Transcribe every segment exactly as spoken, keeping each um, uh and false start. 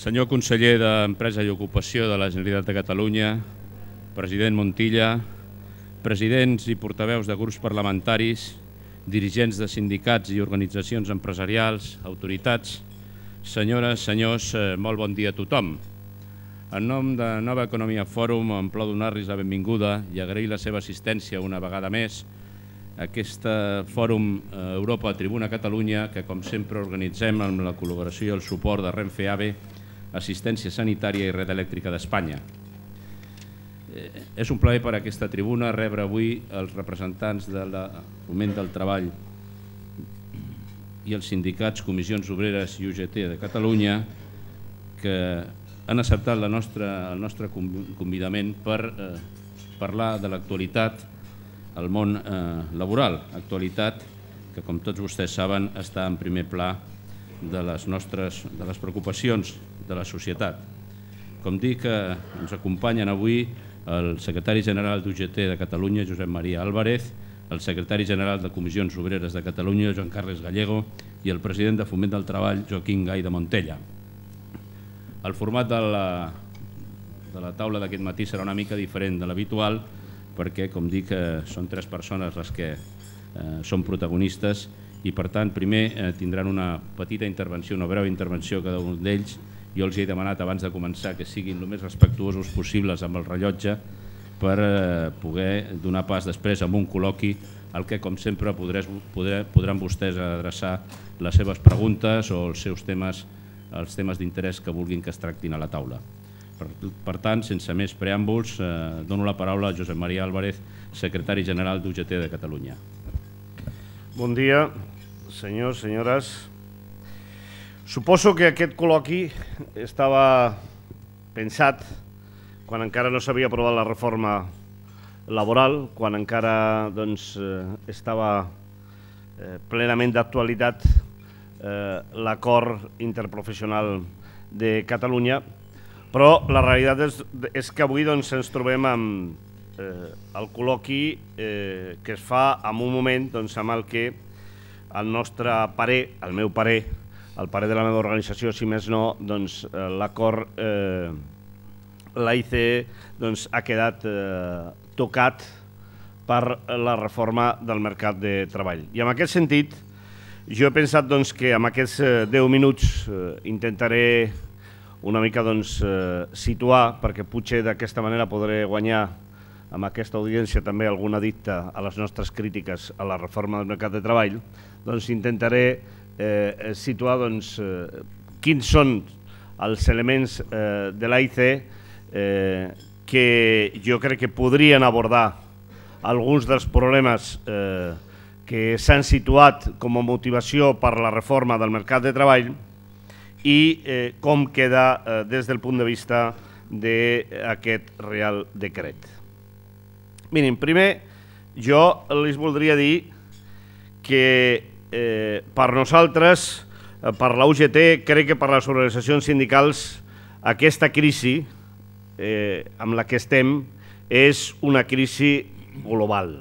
Senyor conseller d'Empresa i Ocupació de la Generalitat de Catalunya, president Montilla, presidents i portaveus de grups parlamentaris, dirigents de sindicats i organitzacions empresarials, autoritats, senyores, senyors, molt bon dia a tothom. En nom de Nova Economia Fòrum em plau donar-los la benvinguda i agrair la seva assistència una vegada més a aquest Fòrum Europa Tribuna Catalunya que, com sempre, organitzem amb la col·laboració i el suport de Renfe AVE, Assistència Sanitària i Red Elèctrica d'Espanya. És un plaer per a aquesta tribuna rebre avui els representants del Foment del Treball i els sindicats, comissions obreres i U G T de Catalunya que han acceptat el nostre convidament per parlar de l'actualitat al món laboral, actualitat que, com tots vostès saben, està en primer pla de les nostres de les preocupacions de la societat. Com dic, ens acompanyen avui el secretari general d'U G T de Catalunya, Josep Maria Álvarez, el secretari general de Comissions Obreres de Catalunya, Joan Carles Gallego, i el president de Foment del Treball, Joaquim Gai de Montella. El format de la, de la taula d'aquest matí serà una mica diferent de l'habitual perquè, com dic, són tres persones les que eh, són protagonistes i, per tant, primer eh, tindran una petita intervenció, una breu intervenció cada un d'ells. Jo els he demanat abans de començar que siguin el més respectuosos possibles amb el rellotge per eh, poder donar pas després amb un col·loqui al que, com sempre, podrés, podré, podran vostès adreçar les seves preguntes o els seus temes els temes d'interès que vulguin que es tractin a la taula. Per, per tant, sense més preàmbuls, eh, dono la paraula a Josep Maria Álvarez, secretari general d'U G T de Catalunya. Bon dia, senyors, senyores. Suposo que aquest col·loqui estava pensat quan encara no s'havia aprovat la reforma laboral, quan encara doncs, estava eh, plenament d'actualitat l'acord interprofessional de Catalunya, però la realitat és, és que avui doncs, ens trobem amb eh, el col·loqui eh, que es fa en un moment doncs, amb el que el nostre parer, el meu parer, el parer de la meva organització, si més no, doncs, l'acord, eh, l'A I C E doncs, ha quedat eh, tocat per la reforma del mercat de treball. I en aquest sentit, jo he pensat doncs, que en aquests deu minuts eh, intentaré una mica doncs, eh, situar, perquè potser d'aquesta manera podré guanyar amb aquesta audiència també alguna dicta a les nostres crítiques a la reforma del mercat de treball, doncs intentaré eh, situar doncs, eh, quins són els elements eh, de l'A I C E eh, que jo crec que podrien abordar alguns dels problemes eh, que s'han situat com a motivació per la reforma del mercat de treball i eh, com queda eh, des del punt de vista d'aquest Real Decret. Mirin, primer jo els voldria dir que eh, per nosaltres, eh, per la U G T, crec que per les organitzacions sindicals, aquesta crisi eh, amb la que estem és una crisi global.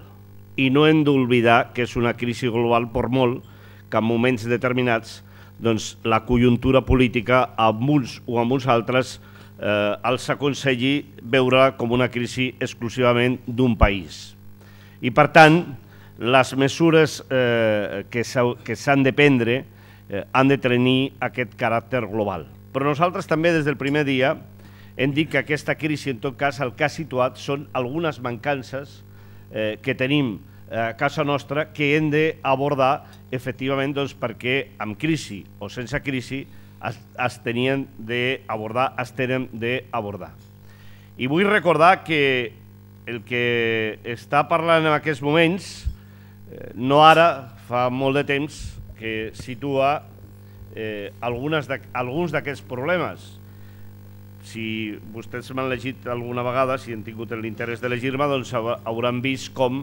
I no hem d'oblidar que és una crisi global per molt que en moments determinats doncs, la conjuntura política amb uns o amb uns altres eh, els aconselli veure com una crisi exclusivament d'un país. I per tant, les mesures eh, que s'han de prendre eh, han de tenir aquest caràcter global. Però nosaltres també des del primer dia hem dit que aquesta crisi, en tot cas, el que ha situat són algunes mancances Eh, que tenim a casa nostra que hem d'abordar efectivament doncs, perquè amb crisi o sense crisi es, es tenien d'abordar, es tenen d'abordar. I vull recordar que el que està parlant en aquests moments, eh, no ara, fa molt de temps, que situa eh, algunes de, alguns d'aquests problemes. Si vostès m'han llegit alguna vegada, si han tingut l'interès de llegir-me, doncs hauran vist com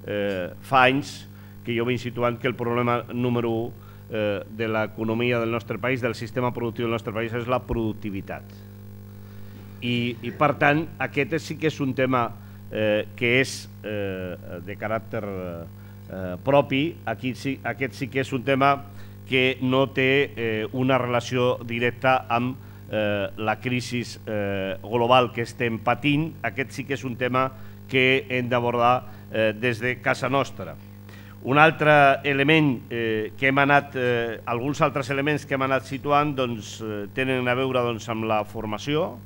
eh, fa anys que jo vinc situant que el problema número u eh, de l'economia del nostre país, del sistema productiu del nostre país, és la productivitat. I, i per tant, aquest sí que és un tema eh, que és eh, de caràcter eh, propi. Aquí sí, aquest sí que és un tema que no té eh, una relació directa amb la crisi global que estem patint, aquest sí que és un tema que hem d'abordar des de casa nostra. Un altre element que hem anat, alguns altres elements que hem anat situant tenen a veure amb la formació.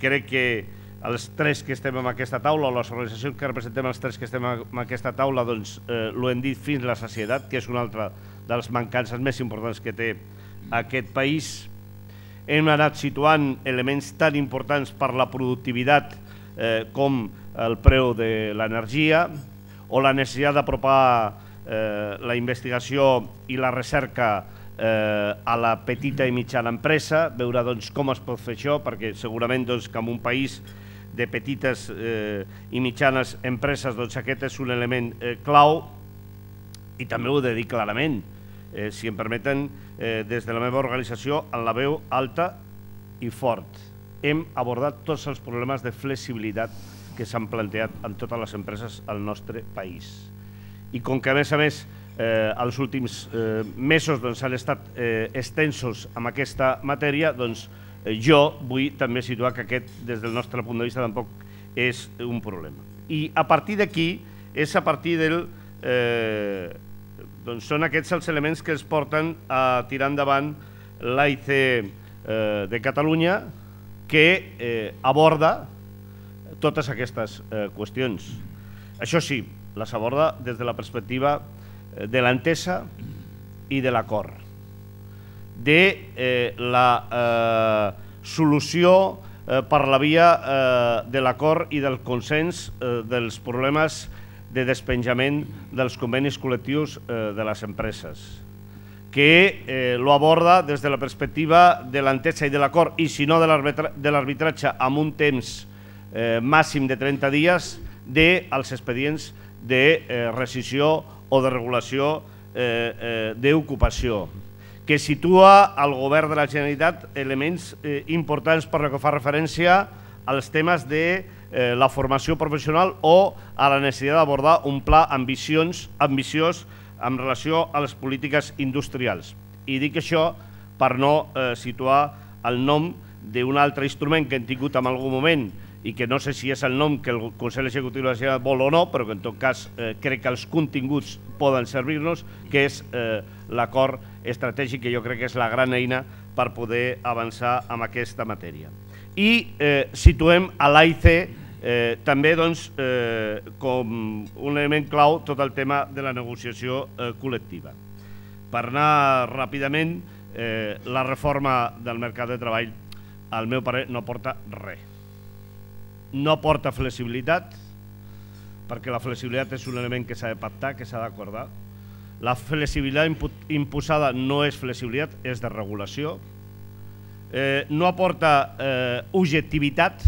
Crec que els tres que estem en aquesta taula, o les organitzacions que representem els tres que estem en aquesta taula, l'ho hem dit fins la sacietat, que és una altra de les mancances més importants que té aquest país. Hem anat situant elements tan importants per la productivitat com el preu de l'energia, o la necessitat d'apropar la investigació i la recerca a la petita i mitjana empresa, veure com es pot fer això, perquè segurament que en un país de petites i mitjanes empreses aquest és un element clau, i també ho he de dir clarament, si em permeten, des de la meva organització, en la veu alta i fort. Hem abordat tots els problemes de flexibilitat que s'han plantejat en totes les empreses al nostre país. I com que, a més a més, els últims mesos han estat extensos en aquesta matèria, doncs jo vull també situar que aquest, des del nostre punt de vista, tampoc és un problema. I a partir d'aquí, és a partir del... doncs són aquests els elements que ens porten a tirar endavant l'A I C de Catalunya, que aborda totes aquestes qüestions. Això sí, les aborda des de la perspectiva de l'entesa i de l'acord, de la solució per la via de l'acord i del consens dels problemes de despenjament dels convenis col·lectius de les empreses, que lo aborda des de la perspectiva de l'entesa i de l'acord, i si no de l'arbitratge, amb un temps màxim de trenta dies dels expedients de rescissió o de regulació d'ocupació, que situa al govern de la Generalitat elements importants per lo que fa referència als temes de la formació professional o a la necessitat d'abordar un pla ambiciós en relació a les polítiques industrials. I dic això per no situar el nom d'un altre instrument que hem tingut en algun moment i que no sé si és el nom que el Consell Executiu de la Generalitat vol o no, però que en tot cas crec que els continguts poden servir-nos, que és l'acord estratègic, que jo crec que és la gran eina per poder avançar en aquesta matèria. I situem a l'A I C també com un element clau tot el tema de la negociació col·lectiva. Per anar ràpidament, la reforma del mercat de treball, al meu parer, no porta res. No porta flexibilitat, perquè la flexibilitat és un element que s'ha de pactar, que s'ha d'acordar. La flexibilitat imposada no és flexibilitat, és de regulació. No aporta objectivitat,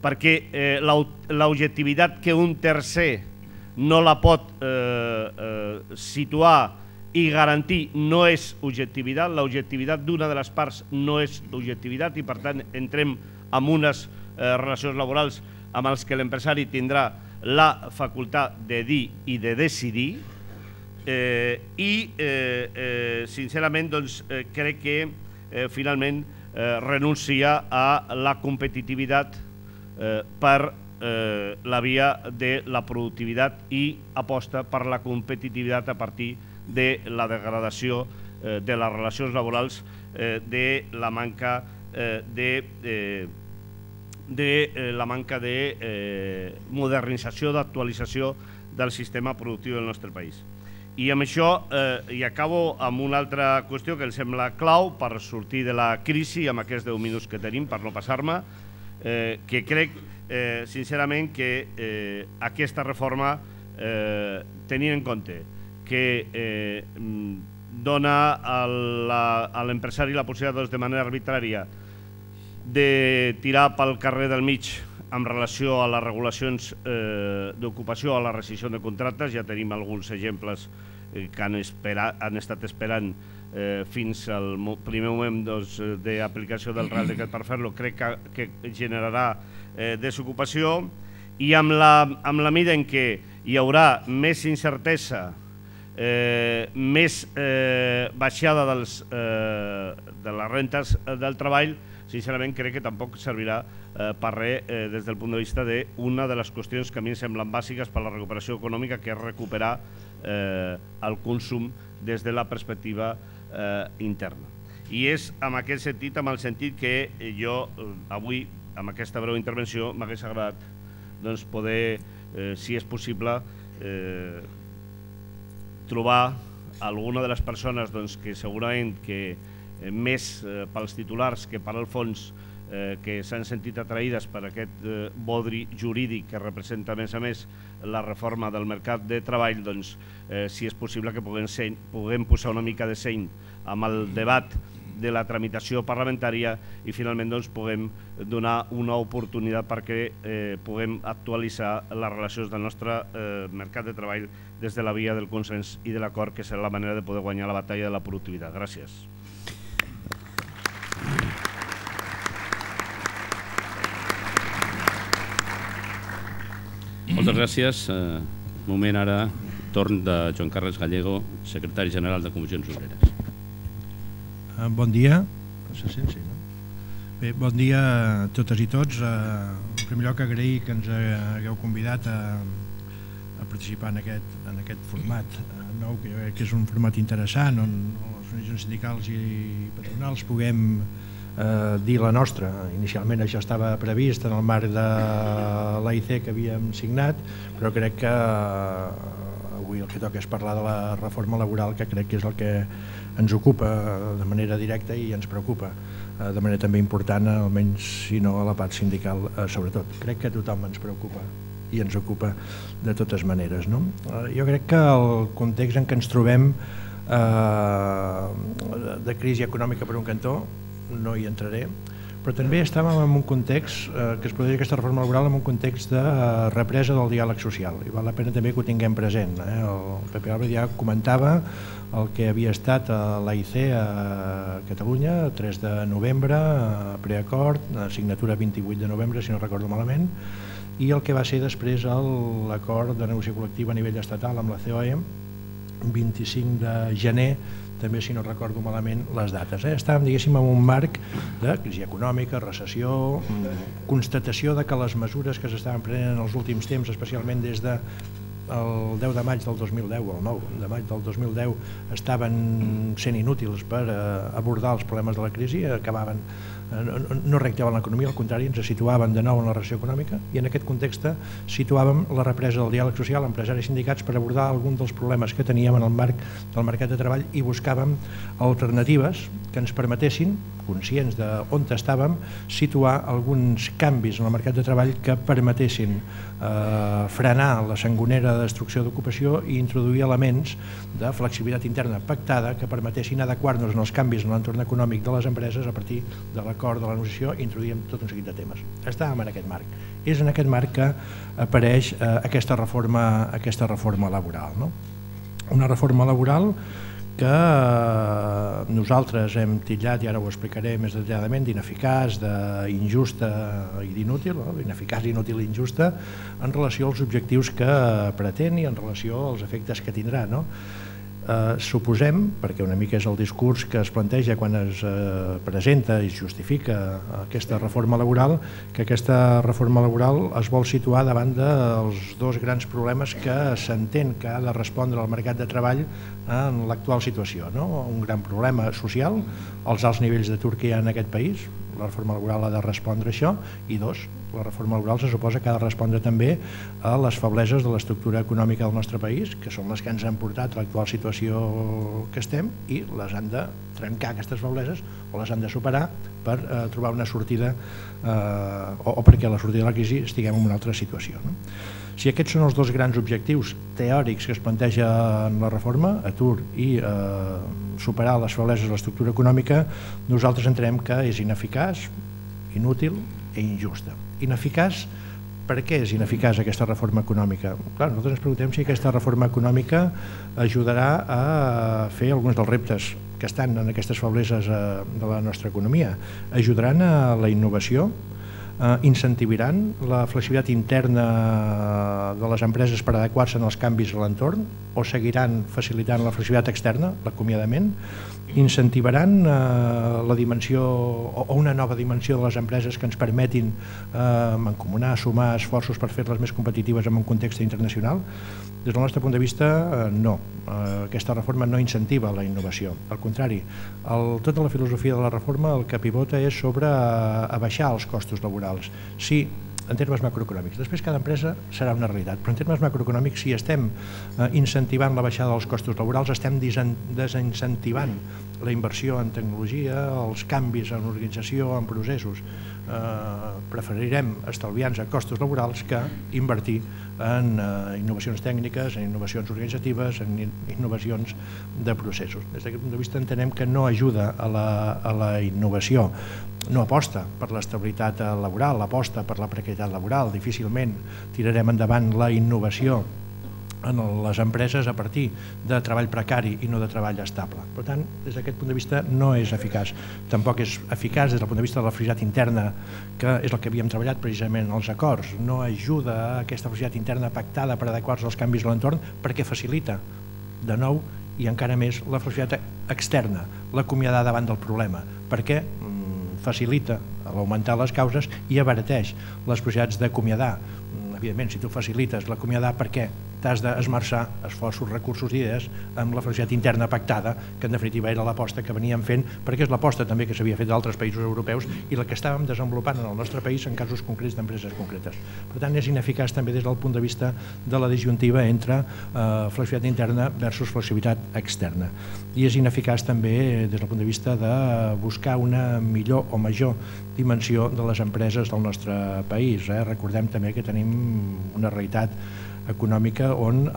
perquè l'objectivitat que un tercer no la pot situar i garantir no és objectivitat. L'objectivitat d'una de les parts no és objectivitat i, per tant, entrem en unes relacions laborals amb els que l'empresari tindrà la facultat de dir i de decidir, i sincerament crec que finalment renuncia a la competitivitat per la via de la productivitat i aposta per la competitivitat a partir de la degradació de les relacions laborals, de la manca de de la manca de modernització, d'actualització del sistema productiu del nostre país. I amb això, i acabo amb una altra qüestió que em sembla clau per sortir de la crisi amb aquests deu minuts que tenim, per no passar-me, que crec sincerament que aquesta reforma, tenint en compte que dona a l'empresari la possibilitat de manera arbitrària de tirar pel carrer del mig en relació a les regulacions d'ocupació, a la rescissió de contractes. Ja tenim alguns exemples que han estat esperant fins al primer moment d'aplicació del Real Decret per fer-lo. Crec que generarà desocupació, i amb la mida en què hi haurà més incertesa eh, més eh, baixada dels, eh, de les rentes del treball, sincerament crec que tampoc servirà eh, per res eh, des del punt de vista d'una de les qüestions que a mi em semblen bàsiques per a la recuperació econòmica, que és recuperar eh, el consum des de la perspectiva eh, interna. I és en aquest sentit, amb el sentit que jo eh, avui, amb aquesta breu intervenció, m'hagués agradat doncs, poder, eh, si és possible, eh, trobar alguna de les persones doncs, que segurament que eh, més eh, pels titulars que per al fons eh, que s'han sentit atraïdes per aquest eh, bodri jurídic que representa a més a més la reforma del mercat de treball, doncs, eh, si és possible que puguem, ser, puguem posar una mica de seny amb el debat de la tramitació parlamentària i finalment doncs, puguem donar una oportunitat perquè eh, puguem actualitzar les relacions del nostre eh, mercat de treball des de la via del consens i de l'acord, que serà la manera de poder guanyar la batalla de la productivitat. Gràcies. Moltes gràcies. Eh, moment ara, torn de Joan Carles Gallego, secretari general de Comissions Obreres. Bon dia. Se sent, sí, no? Bé, bon dia a totes i tots. En primer lloc, agrair que ens hagueu convidat a, a participar en aquest, en aquest format nou, que, que és un format interessant, on les organitzacions sindicals i patronals puguem eh, dir la nostra. Inicialment això estava previst en el marc de l'A I C que havíem signat, però crec que avui el que toca és parlar de la reforma laboral, que crec que és el que ens ocupa de manera directa i ens preocupa de manera també important, almenys si no a la part sindical sobretot. Crec que a tothom ens preocupa i ens ocupa de totes maneres, no? Jo crec que el context en què ens trobem eh, de crisi econòmica per un cantó, no hi entraré, però també estàvem en un context eh, que es podria dir aquesta reforma laboral en un context de eh, represa del diàleg social, i val la pena també que ho tinguem present. Eh? El Pepe Álvarez ja comentava el que havia estat a l'A I C a Catalunya, tres de novembre, preacord, signatura vint-i-vuit de novembre, si no recordo malament, i el que va ser després l'acord de negociació col·lectiva a nivell estatal amb la C O E, vint-i-cinc de gener, també si no recordo malament les dates. Eh? Estàvem, diguéssim, en un marc de crisi econòmica, recessió, constatació de que les mesures que s'estaven prenent en els últims temps, especialment des de el deu de maig del dos mil deu o el nou de maig del dos mil deu, estaven sent inútils per abordar els problemes de la crisi, acabaven, no reactivaven l'economia, al contrari, ens situaven de nou en la recessió econòmica, i en aquest context situàvem la represa del diàleg social, empresaris i sindicats, per abordar algun dels problemes que teníem en el marc del mercat de treball, i buscàvem alternatives que ens permetessin, conscients d'on estàvem, situar alguns canvis en el mercat de treball que permetessin eh, frenar la sangonera de destrucció d'ocupació i introduir elements de flexibilitat interna pactada que permetessin adequar-nos en els canvis en l'entorn econòmic de les empreses a partir de l'acord de la negociació, i introduïm tot un seguit de temes. Estàvem en aquest marc. És en aquest marc que apareix eh, aquesta, reforma, aquesta reforma laboral. No? Una reforma laboral que nosaltres hem titllat, i ara ho explicaré més detalladament, d'ineficaç, d'injusta i d'inútil, no? Ineficaç, inútil i injusta, en relació als objectius que pretén i en relació als efectes que tindrà. No? Eh, suposem, perquè una mica és el discurs que es planteja quan es eh, presenta i es justifica aquesta reforma laboral, que aquesta reforma laboral es vol situar davant dels dos grans problemes que s'entén que ha de respondre al mercat de treball en l'actual situació. No? Un gran problema social, els alts nivells d'atur que hi ha en aquest país, la reforma laboral ha de respondre a això, i dos, la reforma laboral se suposa que ha de respondre també a les febleses de l'estructura econòmica del nostre país, que són les que ens han portat a l'actual situació que estem, i les han de trencar, aquestes febleses, o les han de superar per eh, trobar una sortida eh, o, o perquè a la sortida de la crisi estiguem en una altra situació. No? Si aquests són els dos grans objectius teòrics que es planteja en la reforma, atur i eh, superar les febleses de l'estructura econòmica, nosaltres entenem que és ineficaç, inútil i injusta. Ineficaç, per què és ineficaç aquesta reforma econòmica? Clar, nosaltres ens preguntem si aquesta reforma econòmica ajudarà a fer alguns dels reptes que estan en aquestes febleses de la nostra economia. Ajudaran a la innovació, incentivaran la flexibilitat interna de les empreses per adequar-se als canvis a l'entorn o seguiran facilitant la flexibilitat externa, l'acomiadament? Incentivaran la dimensió o una nova dimensió de les empreses que ens permetin mancomunar, sumar esforços per fer-les més competitives en un context internacional? Des del nostre punt de vista, no. Aquesta reforma no incentiva la innovació. Al contrari, tota la filosofia de la reforma el que pivota és sobre abaixar els costos laborals. Sí, en termes macroeconòmics. Després cada empresa serà una realitat, però en termes macroeconòmics, si estem incentivant la baixada dels costos laborals, estem desincentivant la inversió en tecnologia, els canvis en organització, en processos. Preferirem estalviar-nos costos laborals que invertir en innovacions tècniques, en innovacions organitzatives, en innovacions de processos. Des d'aquest punt de vista entenem que no ajuda a la innovació, no aposta per l'estabilitat laboral, aposta per la precarietat laboral. Difícilment tirarem endavant la innovació en les empreses a partir de treball precari i no de treball estable. Per tant, des d'aquest punt de vista no és eficaç. Tampoc és eficaç des del punt de vista de la flexibilitat interna, que és el que havíem treballat precisament als acords. No ajuda a aquesta flexibilitat interna pactada per adequar-se als canvis a l'entorn perquè facilita, de nou, i encara més, la flexibilitat externa, l'acomiadar davant del problema, perquè facilita l'augmentar les causes i abarateix les possibilitats d'acomiadar. Evidentment, si tu facilites l'acomiadar, per què t'has d'esmerçar esforços, recursos i idees amb la flexibilitat interna pactada, que en definitiva era l'aposta que veníem fent, perquè és l'aposta també que s'havia fet d'altres països europeus i la que estàvem desenvolupant en el nostre país en casos concrets d'empreses concretes. Per tant, és ineficaç també des del punt de vista de la disjuntiva entre flexibilitat interna versus flexibilitat externa. I és ineficaç també des del punt de vista de buscar una millor o major dimensió de les empreses del nostre país. Recordem també que tenim una realitat econòmica on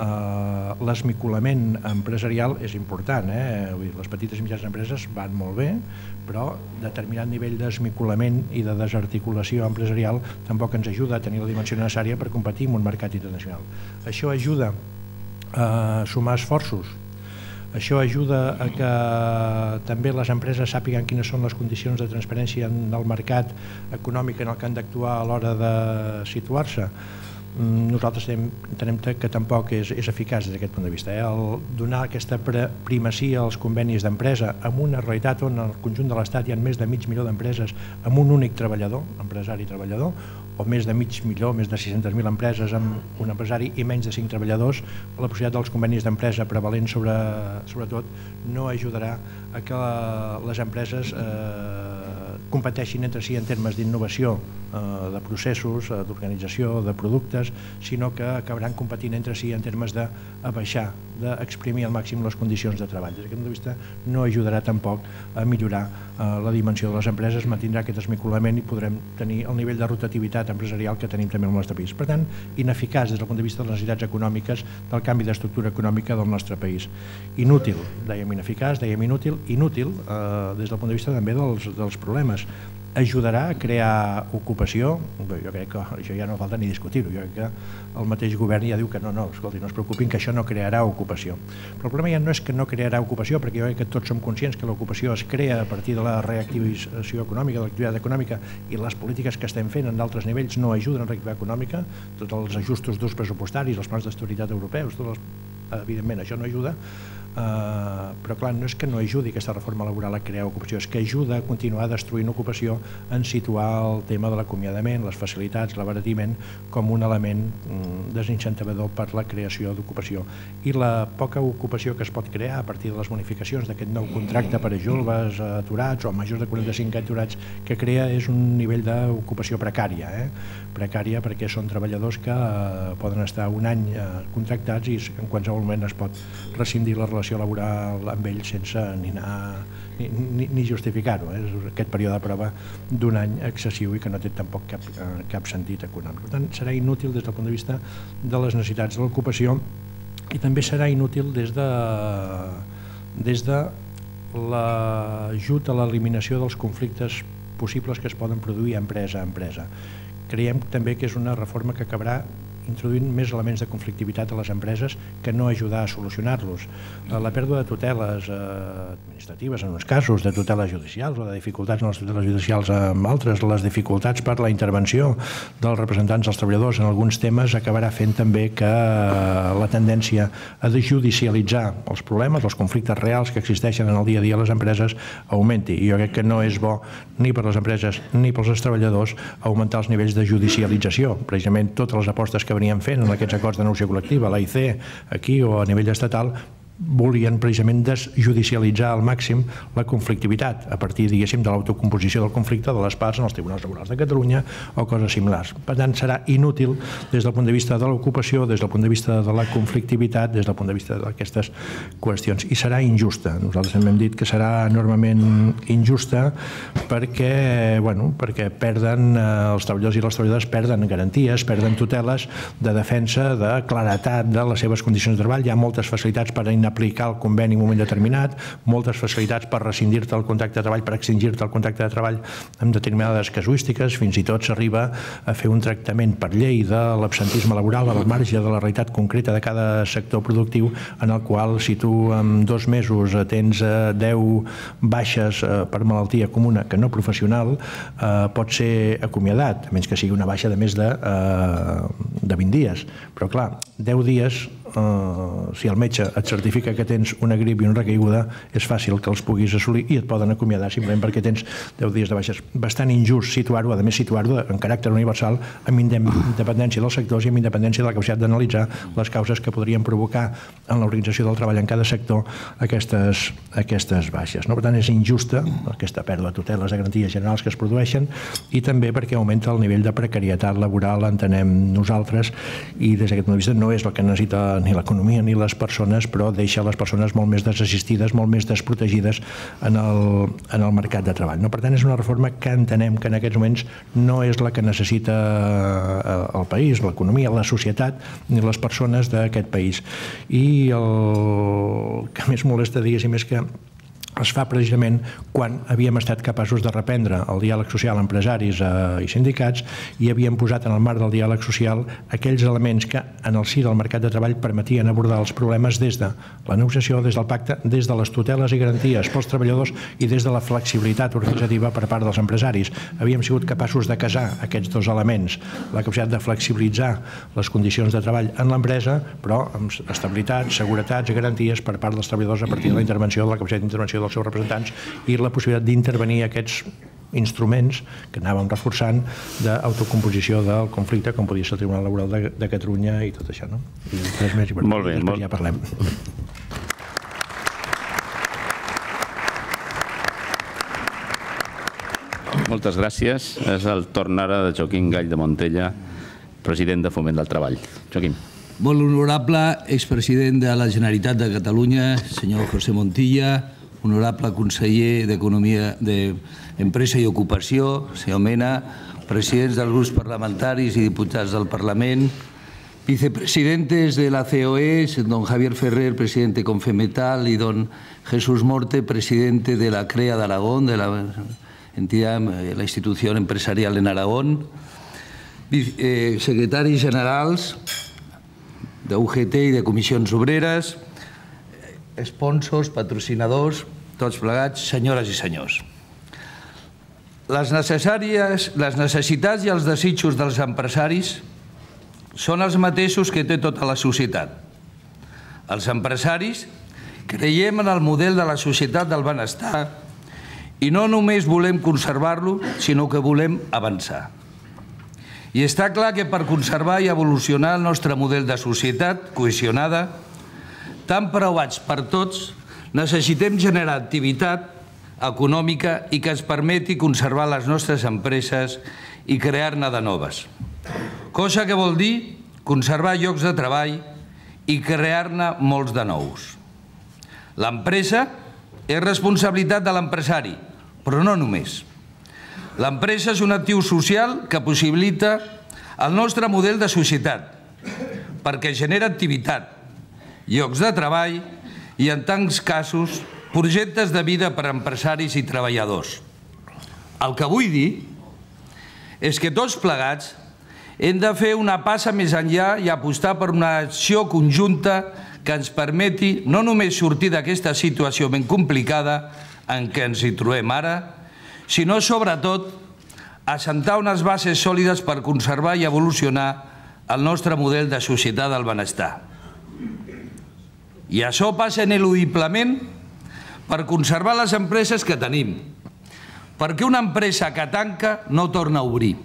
l'esmicolament empresarial és important. Les petites i mitjanes empreses van molt bé, però determinat nivell d'esmicolament i de desarticulació empresarial tampoc ens ajuda a tenir la dimensió necessària per competir en un mercat internacional. Això ajuda a sumar esforços. Això ajuda a que també les empreses sàpiguen quines són les condicions de transparència en el mercat econòmic en el que han d'actuar a l'hora de situar-se. Nosaltres entenem que tampoc és eficaç des d'aquest punt de vista. El donar aquesta primacia als convenis d'empresa en una realitat on al conjunt de l'Estat hi ha més de mig milió d'empreses amb un únic treballador, empresari i treballador, o més de mig milió, més de sis-centes mil empreses amb un empresari i menys de cinc treballadors, la possibilitat dels convenis d'empresa prevalent sobretot no ajudarà a que les empreses competeixin entre si en termes d'innovació, de processos, d'organització, de productes, sinó que acabaran competint entre si en termes d'abaixar, d'exprimir al màxim les condicions de treball. Des d'aquest punt de vista no ajudarà tampoc a millorar la dimensió de les empreses, mantindrà aquest esmicolament i podrem tenir el nivell de rotativitat empresarial que tenim també al nostre país. Per tant, ineficaç des del punt de vista de les necessitats econòmiques del canvi d'estructura econòmica del nostre país. Inútil, dèiem ineficaç, dèiem inútil, inútil des del punt de vista també dels problemes. Ajudarà a crear ocupació? Jo crec que això ja no falta ni discutir-ho. Jo crec que el mateix govern ja diu que no, no, escolti, no es preocupin, que això no crearà ocupació. Però el problema ja no és que no crearà ocupació, perquè jo crec que tots som conscients que l'ocupació es crea a partir de la reactivació econòmica, de l'activitat econòmica, i les polítiques que estem fent en d'altres nivells no ajuden a la reactivitat econòmica, tots els ajustos d'ús pressupostaris, els plans d'estabilitat europeus, evidentment això no ajuda, però clar, no és que no ajudi aquesta reforma laboral a crear ocupació, és que ajuda a continuar destruint ocupació en situar el tema de l'acomiadament, les facilitats, l'abaratiment com un element desincentivador per la creació d'ocupació. I la poca ocupació que es pot crear a partir de les bonificacions d'aquest nou contracte per a joves aturats o majors de quaranta-cinc aturats que crea és un nivell d'ocupació precària, precària perquè són treballadors que poden estar un any contractats i en qualsevol moment es pot rescindir la relació laboral amb ells sense ni anar ni, ni justificar-ho. És aquest període de prova d'un any excessiu i que no té tampoc cap, cap sentit econòmic. Per tant, serà inútil des del punt de vista de les necessitats de l'ocupació i també serà inútil des de, des de l'ajut a l'eliminació dels conflictes possibles que es poden produir empresa a empresa. Creiem també que és una reforma que acabarà introduint més elements de conflictivitat a les empreses que no ajudar a solucionar-los. La pèrdua de tuteles administratives en uns casos, de tuteles judicials o de dificultats en les tuteles judicials en altres, les dificultats per la intervenció dels representants dels treballadors en alguns temes acabarà fent també que la tendència a judicialitzar els problemes, els conflictes reals que existeixen en el dia a dia a les empreses augmenti. I jo crec que no és bo ni per les empreses ni pels treballadors augmentar els nivells de judicialització. Precisament totes les apostes que veníem fent en aquests acords de negociació col·lectiva, l'A I C, aquí o a nivell estatal, volien precisament desjudicialitzar al màxim la conflictivitat a partir, diguéssim, de l'autocomposició del conflicte de les parts en els tribunals laborals de Catalunya o coses similars. Per tant, serà inútil des del punt de vista de l'ocupació, des del punt de vista de la conflictivitat, des del punt de vista d'aquestes qüestions. I serà injusta. Nosaltres també hem dit que serà enormement injusta perquè, bueno, perquè perden, els treballadors i les treballadores perden garanties, perden tuteles de defensa, de claretat de les seves condicions de treball. Hi ha moltes facilitats per aplicar el conveni en un moment determinat, moltes facilitats per rescindir-te el contracte de treball, per extingir-te el contracte de treball amb determinades casuístiques, fins i tot s'arriba a fer un tractament per llei de l'absentisme laboral al marge de la realitat concreta de cada sector productiu, en el qual si tu en dos mesos tens deu baixes per malaltia comuna que no professional, pot ser acomiadat, a menys que sigui una baixa de més de, de vint dies. Però clar, deu dies, si el metge et certifica que tens una grip i una recaiguda, és fàcil que els puguis assolir i et poden acomiadar simplement perquè tens deu dies de baixes. Bastant injust situar-ho, a més situar-ho en caràcter universal, amb independència dels sectors i amb independència de la capacitat d'analitzar les causes que podrien provocar en l'organització del treball en cada sector aquestes, aquestes baixes. No? Per tant, és injusta aquesta pèrdua de tuteles de garanties generals que es produeixen i també perquè augmenta el nivell de precarietat laboral, entenem nosaltres, i des d'aquest punt de vista no és el que necessita ni l'economia ni les persones, però deixa les persones molt més desassistides, molt més desprotegides en el, en el mercat de treball. No? Per tant, és una reforma que entenem que en aquests moments no és la que necessita el país, l'economia, la societat, ni les persones d'aquest país. I el que més molesta, diguéssim, és que es fa precisament quan havíem estat capaços de reprendre el diàleg social amb empresaris i sindicats i havíem posat en el marc del diàleg social aquells elements que en el si del mercat de treball permetien abordar els problemes des de la negociació, des del pacte, des de les tuteles i garanties pels treballadors i des de la flexibilitat organitzativa per part dels empresaris. Havíem sigut capaços de casar aquests dos elements, la capacitat de flexibilitzar les condicions de treball en l'empresa, però amb estabilitat, seguretats i garanties per part dels treballadors a partir de la intervenció, de la capacitat d'intervenció dels seus representants i la possibilitat d'intervenir aquests instruments que anàvem reforçant d'autocomposició del conflicte, com podia ser el Tribunal Laboral de, de Catalunya i tot això. No? I res més, i per molt bé, molt... ja parlem. Moltes gràcies. És el torn ara de Joaquim Gall de Montella, president de Foment del Treball. Joaquim. Molt honorable expresident de la Generalitat de Catalunya, senyor José Montilla, honorable conseller d'Economia, d'Empresa i Ocupació, senyor Mena, presidents dels grups parlamentaris i diputats del Parlament, vicepresidentes de la C O E, don Javier Ferrer, presidente de Confemetal, y don Jesús Morte, presidente de la CREA de Aragón, de la entidad, la institución empresarial en Aragón, eh, secretaris generals de U G T i de Comissions Obreres, sponsors, patrocinadors, tots plegats, senyores i senyors. Les necessàries, les necessitats i els desitjos dels empresaris són els mateixos que té tota la societat. Els empresaris creiem en el model de la societat del benestar i no només volem conservar-lo, sinó que volem avançar. I està clar que per conservar i evolucionar el nostre model de societat cohesionada, tan preuats per tots, necessitem generar activitat econòmica i que ens permeti conservar les nostres empreses i crear-ne de noves. Cosa que vol dir conservar llocs de treball i crear-ne molts de nous. L'empresa és responsabilitat de l'empresari, però no només. L'empresa és un actiu social que possibilita el nostre model de societat, perquè genera activitat, llocs de treball i, en tants casos, projectes de vida per a empresaris i treballadors. El que vull dir és que tots plegats hem de fer una passa més enllà i apostar per una acció conjunta que ens permeti no només sortir d'aquesta situació ben complicada en què ens hi trobem ara, sinó sobretot assentar unes bases sòlides per conservar i evolucionar el nostre model de societat del benestar. I això passa ineludiblement per conservar les empreses que tenim, perquè una empresa que tanca no torna a obrir,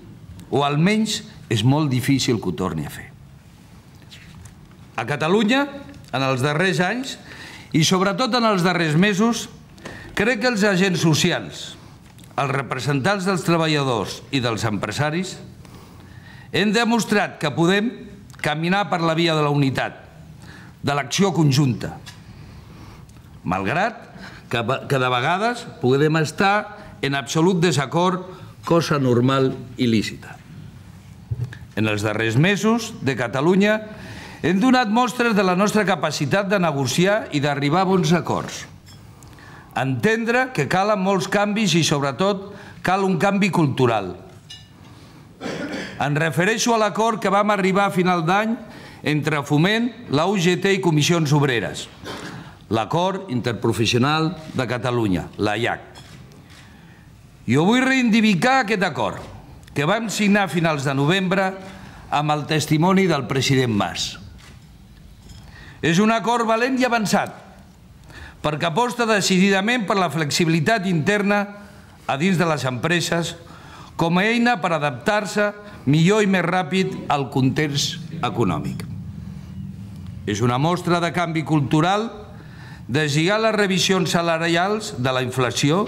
o almenys és molt difícil que ho torni a fer. A Catalunya, en els darrers anys, i sobretot en els darrers mesos, crec que els agents socials, els representants dels treballadors i dels empresaris, hem demostrat que podem caminar per la via de la unitat, de l'acció conjunta, malgrat que de vegades podem estar en absolut desacord, cosa normal i lícita. En els darrers mesos de Catalunya hem donat mostres de la nostra capacitat de negociar i d'arribar a bons acords. Entendre que calen molts canvis i, sobretot, cal un canvi cultural. Em refereixo a l'acord que vam arribar a final d'any entre Foment, la U G T i Comissions Obreres, l'Acord Interprofessional de Catalunya, l'A I A C. Jo vull reivindicar aquest acord, que vam signar a finals de novembre amb el testimoni del president Mas. És un acord valent i avançat, perquè aposta decididament per la flexibilitat interna a dins de les empreses com a eina per adaptar-se millor i més ràpid al context econòmic. És una mostra de canvi cultural, deslligar les revisions salarials de la inflació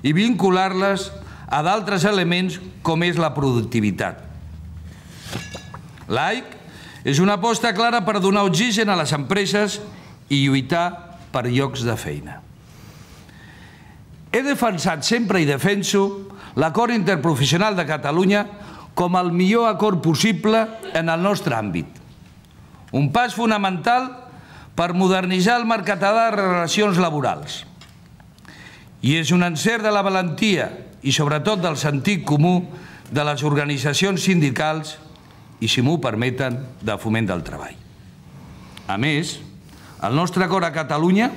i vincular-les a d'altres elements com és la productivitat. L'A I C és una aposta clara per donar oxigen a les empreses i lluitar per llocs de feina. He defensat sempre i defenso l'Acord Interprofessional de Catalunya com el millor acord possible en el nostre àmbit. Un pas fonamental per modernitzar el mercat de relacions laborals. I és un encert de la valentia i sobretot del sentit comú de les organitzacions sindicals i, si m'ho permeten, de Foment del Treball. A més, el nostre acord a Catalunya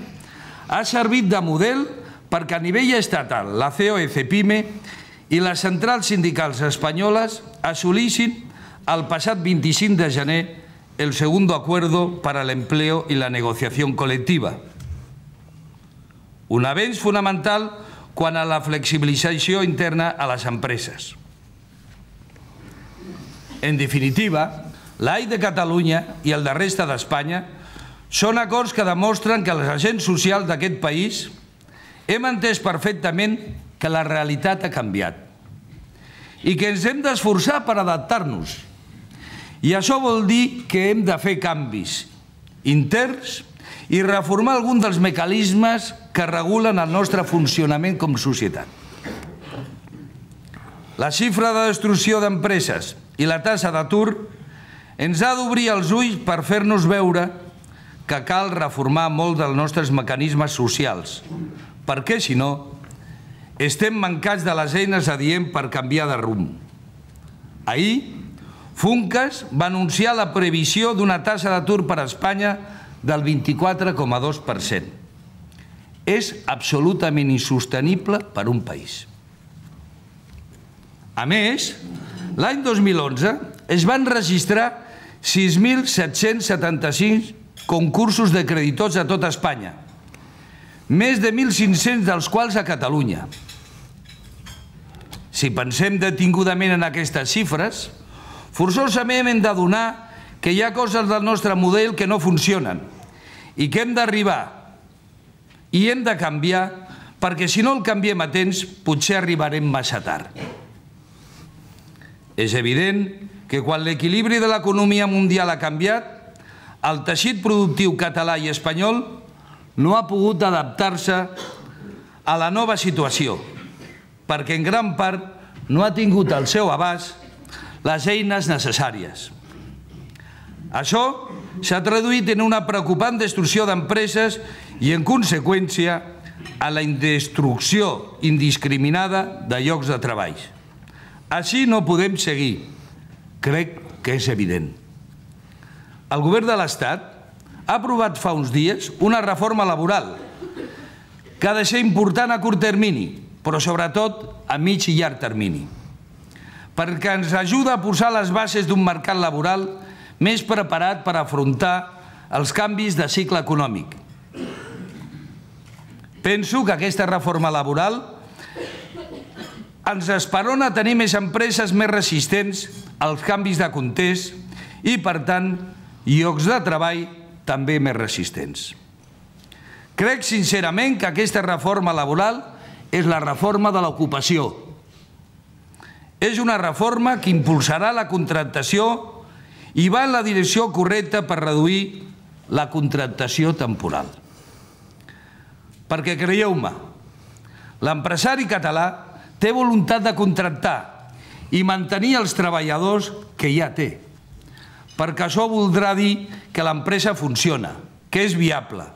ha servit de model perquè a nivell estatal la C O E CEPIME i les centrals sindicals espanyoles assolissin el passat vint-i-cinc de gener el segundo acuerdo para el empleo y la negociación colectiva. Un avenç fonamental quant a la flexibilització interna a les empreses. En definitiva, l'A I C de Catalunya i el de resta d'Espanya són acords que demostren que els agents socials d'aquest país hem entès perfectament que la realitat ha canviat i que ens hem d'esforçar per adaptar-nos. I això vol dir que hem de fer canvis interns i reformar algun dels mecanismes que regulen el nostre funcionament com a societat. La xifra de destrucció d'empreses i la taxa d'atur ens ha d'obrir els ulls per fer-nos veure que cal reformar molt dels nostres mecanismes socials, perquè, si no, estem mancats de les eines adients per canviar de rumb. Ahir, Funcas va anunciar la previsió d'una taxa d'atur per a Espanya del vint-i-quatre coma dos per cent. És absolutament insostenible per a un país. A més, l'any dos mil onze es van registrar sis mil set-cents setanta-cinc concursos de creditors a tot Espanya, més de mil cinc-cents dels quals a Catalunya. Si pensem detingudament en aquestes xifres, forçosament hem d'adonar que hi ha coses del nostre model que no funcionen i que hem d'arribar i hem de canviar perquè si no el canviem a temps potser arribarem massa tard. És evident que quan l'equilibri de l'economia mundial ha canviat, el teixit productiu català i espanyol no ha pogut adaptar-se a la nova situació perquè en gran part no ha tingut al seu abast les eines necessàries. Això s'ha traduït en una preocupant destrucció d'empreses i, en conseqüència, a la destrucció indiscriminada de llocs de treball. Així no podem seguir. Crec que és evident. El govern de l'Estat ha aprovat fa uns dies una reforma laboral que ha de ser important a curt termini, però sobretot a mig i llarg termini, perquè ens ajuda a posar les bases d'un mercat laboral més preparat per afrontar els canvis de cicle econòmic. Penso que aquesta reforma laboral ens esperona a tenir més empreses més resistents als canvis de context i, per tant, llocs de treball també més resistents. Crec sincerament que aquesta reforma laboral és la reforma de l'ocupació. És una reforma que impulsarà la contractació i va en la direcció correcta per reduir la contractació temporal. Perquè creieu-me, l'empresari català té voluntat de contractar i mantenir els treballadors que ja té, perquè això voldrà dir que l'empresa funciona, que és viable,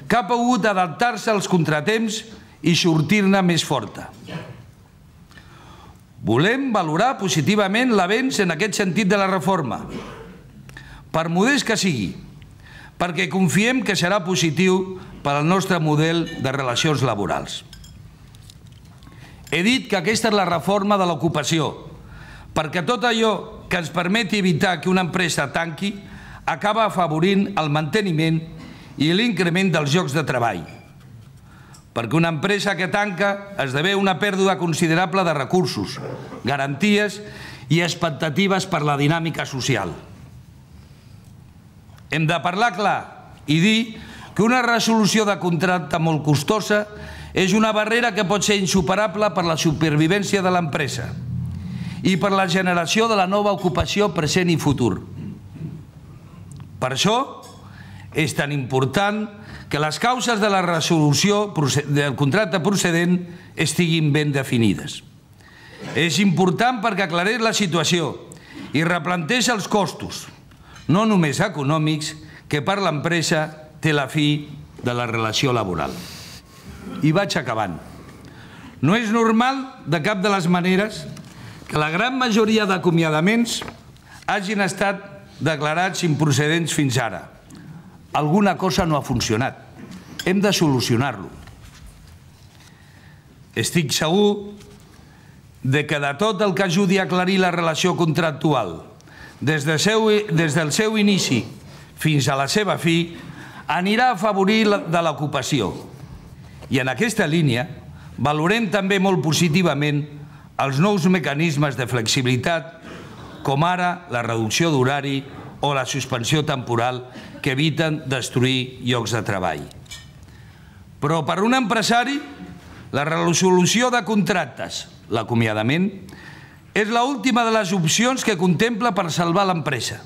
que ha pogut adaptar-se als contratemps i sortir-ne més forta. Volem valorar positivament l'avenç en aquest sentit de la reforma, per modest que sigui, perquè confiem que serà positiu per al nostre model de relacions laborals. He dit que aquesta és la reforma de l'ocupació, perquè tot allò que ens permeti evitar que una empresa tanqui acaba afavorint el manteniment i l'increment dels llocs de treball. Perquè una empresa que tanca esdevé una pèrdua considerable de recursos, garanties i expectatives per la dinàmica social. Hem de parlar clar i dir que una resolució de contracte molt costosa és una barrera que pot ser insuperable per la supervivència de l'empresa i per la generació de la nova ocupació present i futur. Per això és tan important que les causes de la resolució del contracte procedent estiguin ben definides. És important perquè aclareix la situació i replanteja els costos, no només econòmics, que per l'empresa té la fi de la relació laboral. I vaig acabant. No és normal, de cap de les maneres, que la gran majoria d'acomiadaments hagin estat declarats improcedents fins ara. Alguna cosa no ha funcionat. Hem de solucionar-lo. Estic segur de que de tot el que ajudi a aclarir la relació contractual, des del seu inici fins a la seva fi, anirà a afavorir de l'ocupació. I en aquesta línia valorem també molt positivament els nous mecanismes de flexibilitat, com ara la reducció d'horari o la suspensió temporal, que eviten destruir llocs de treball. Però per un empresari, la resolució de contractes, l'acomiadament, és l'última de les opcions que contempla per salvar l'empresa.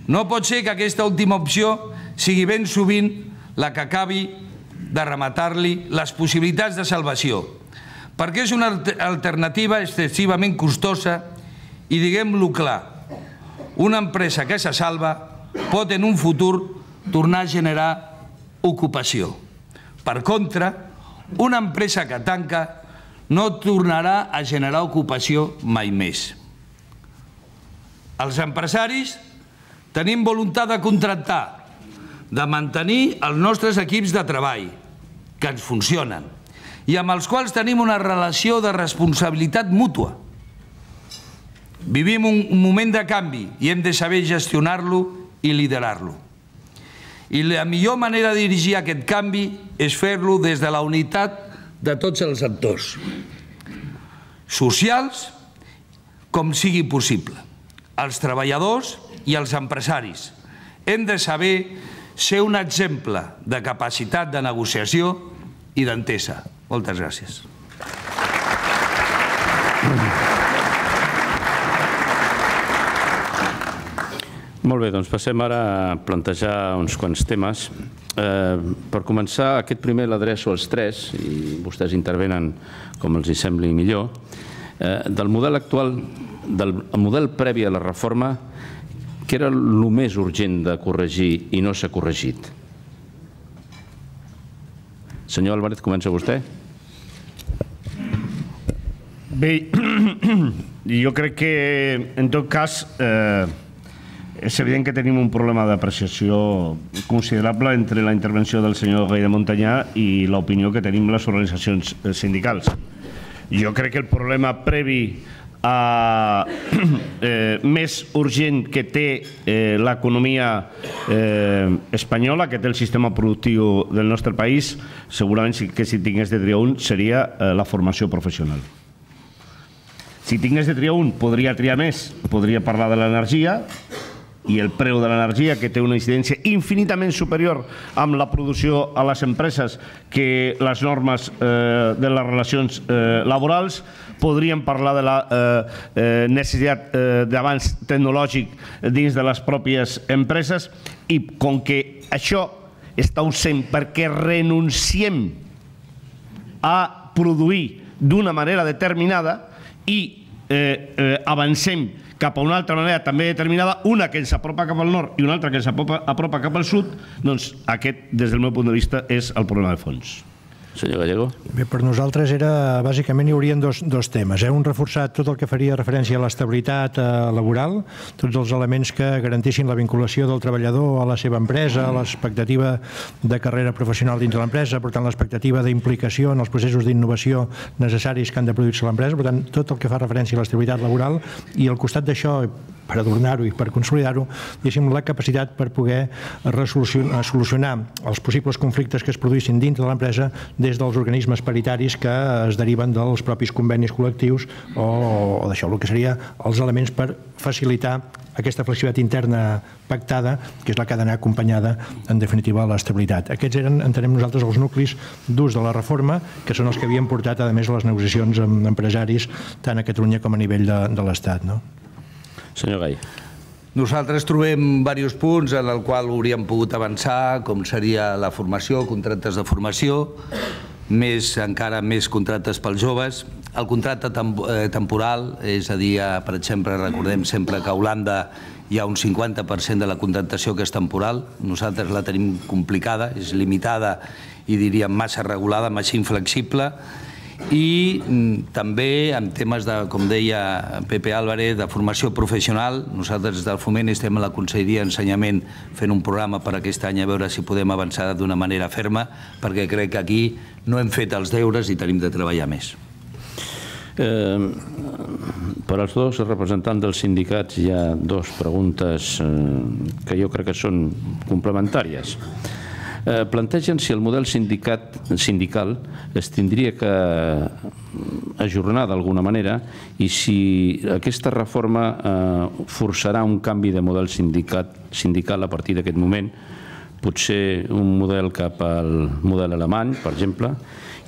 No pot ser que aquesta última opció sigui ben sovint la que acabi de rematar-li les possibilitats de salvació, perquè és una alternativa excessivament costosa i, diguem-lo clar, una empresa que se salva pot en un futur tornar a generar ocupació. Per contra, una empresa que tanca no tornarà a generar ocupació mai més. Els empresaris tenim voluntat de contractar, de mantenir els nostres equips de treball, que ens funcionen, i amb els quals tenim una relació de responsabilitat mútua. Vivim un moment de canvi i hem de saber gestionar-lo i liderar-lo. I la millor manera de dirigir aquest canvi és fer-lo des de la unitat de tots els actors socials, com sigui possible, els treballadors i els empresaris. Hem de saber ser un exemple de capacitat de negociació i d'entesa. Moltes gràcies. Molt bé, doncs passem ara a plantejar uns quants temes. Per començar, aquest primer l'adreço als tres, i vostès intervenen com els hi sembli millor. Del model actual, del model previ a la reforma, què era el més urgent de corregir i no s'ha corregit? Senyor Álvarez, comença vostè. Bé, jo crec que, en tot cas, eh, és evident que tenim un problema d'apreciació considerable entre la intervenció del senyor Gai de Montanyà i l'opinió que tenim les organitzacions sindicals. Jo crec que el problema previ a, eh, més urgent que té eh, l'economia eh, espanyola, que té el sistema productiu del nostre país, segurament que si tingués de triar un seria eh, la formació professional. Si tingués de triar un, podria triar més, podria parlar de l'energia i el preu de l'energia, que té una incidència infinitament superior amb la producció a les empreses que les normes eh, de les relacions eh, laborals. Podríem parlar de la eh, eh, necessitat eh, d'avanç tecnològic dins de les pròpies empreses, i com que això està ausent perquè renunciem a produir d'una manera determinada i eh, eh, avancem cap a una altra manera també determinada, una que ens apropa cap al nord i una altra que ens apropa, apropa cap al sud, doncs aquest, des del meu punt de vista, és el problema de fons. Senyor Gallego. Bé, per nosaltres era, bàsicament hi haurien dos, dos temes. Eh? Un, reforçar tot el que faria referència a l'estabilitat eh, laboral, tots els elements que garantissin la vinculació del treballador a la seva empresa, a l'expectativa de carrera professional dins de l'empresa, per tant, l'expectativa d'implicació en els processos d'innovació necessaris que han de produir-se a l'empresa, per tant, tot el que fa referència a l'estabilitat laboral, i al costat d'això, per adornar-ho i per consolidar-ho, diguéssim, la capacitat per poder resolucionar, solucionar els possibles conflictes que es produïssin dintre de l'empresa des dels organismes paritaris que es deriven dels propis convenis col·lectius o, o d'això, el que seria els elements per facilitar aquesta flexibilitat interna pactada, que és la que ha d'anar acompanyada, en definitiva, a l'estabilitat. Aquests eren, entenem nosaltres, els nuclis durs de la reforma, que són els que havien portat, a més, a les negociacions amb empresaris, tant a Catalunya com a nivell de, de l'Estat, no? Senyor Gai. Nosaltres trobem diversos punts en el qual hauríem pogut avançar, com seria la formació, contractes de formació, més encara més contractes pels joves. El contracte temporal, és a dir, per exemple, recordem sempre que a Holanda hi ha un cinquanta per cent de la contractació que és temporal. Nosaltres la tenim complicada, és limitada i diríem massa regulada, massa inflexible. I també en temes de, com deia Pepe Álvarez, de formació professional. Nosaltres des del Foment estem a la Conselleria d'Ensenyament fent un programa per aquest any a veure si podem avançar d'una manera ferma, perquè crec que aquí no hem fet els deures i tenim de treballar més. Eh, per als dos representants dels sindicats hi ha dues preguntes eh, que jo crec que són complementàries. Eh, plantegen si el model sindicat, sindical es tindria que ajornar d'alguna manera i si aquesta reforma eh, forçarà un canvi de model sindicat, sindical a partir d'aquest moment, potser un model cap al model alemany, per exemple,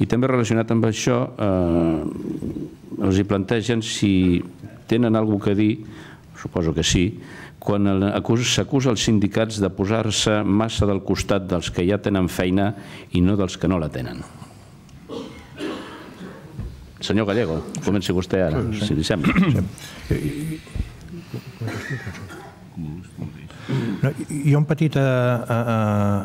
i també relacionat amb això eh, els hi plantegen si tenen alguna cosa a dir, suposo que sí, quan s'acusa els sindicats de posar-se massa del costat dels que ja tenen feina i no dels que no la tenen. Senyor Gallego, comenci vostè ara, si li sembla. No, hi ha un petit a, a, a,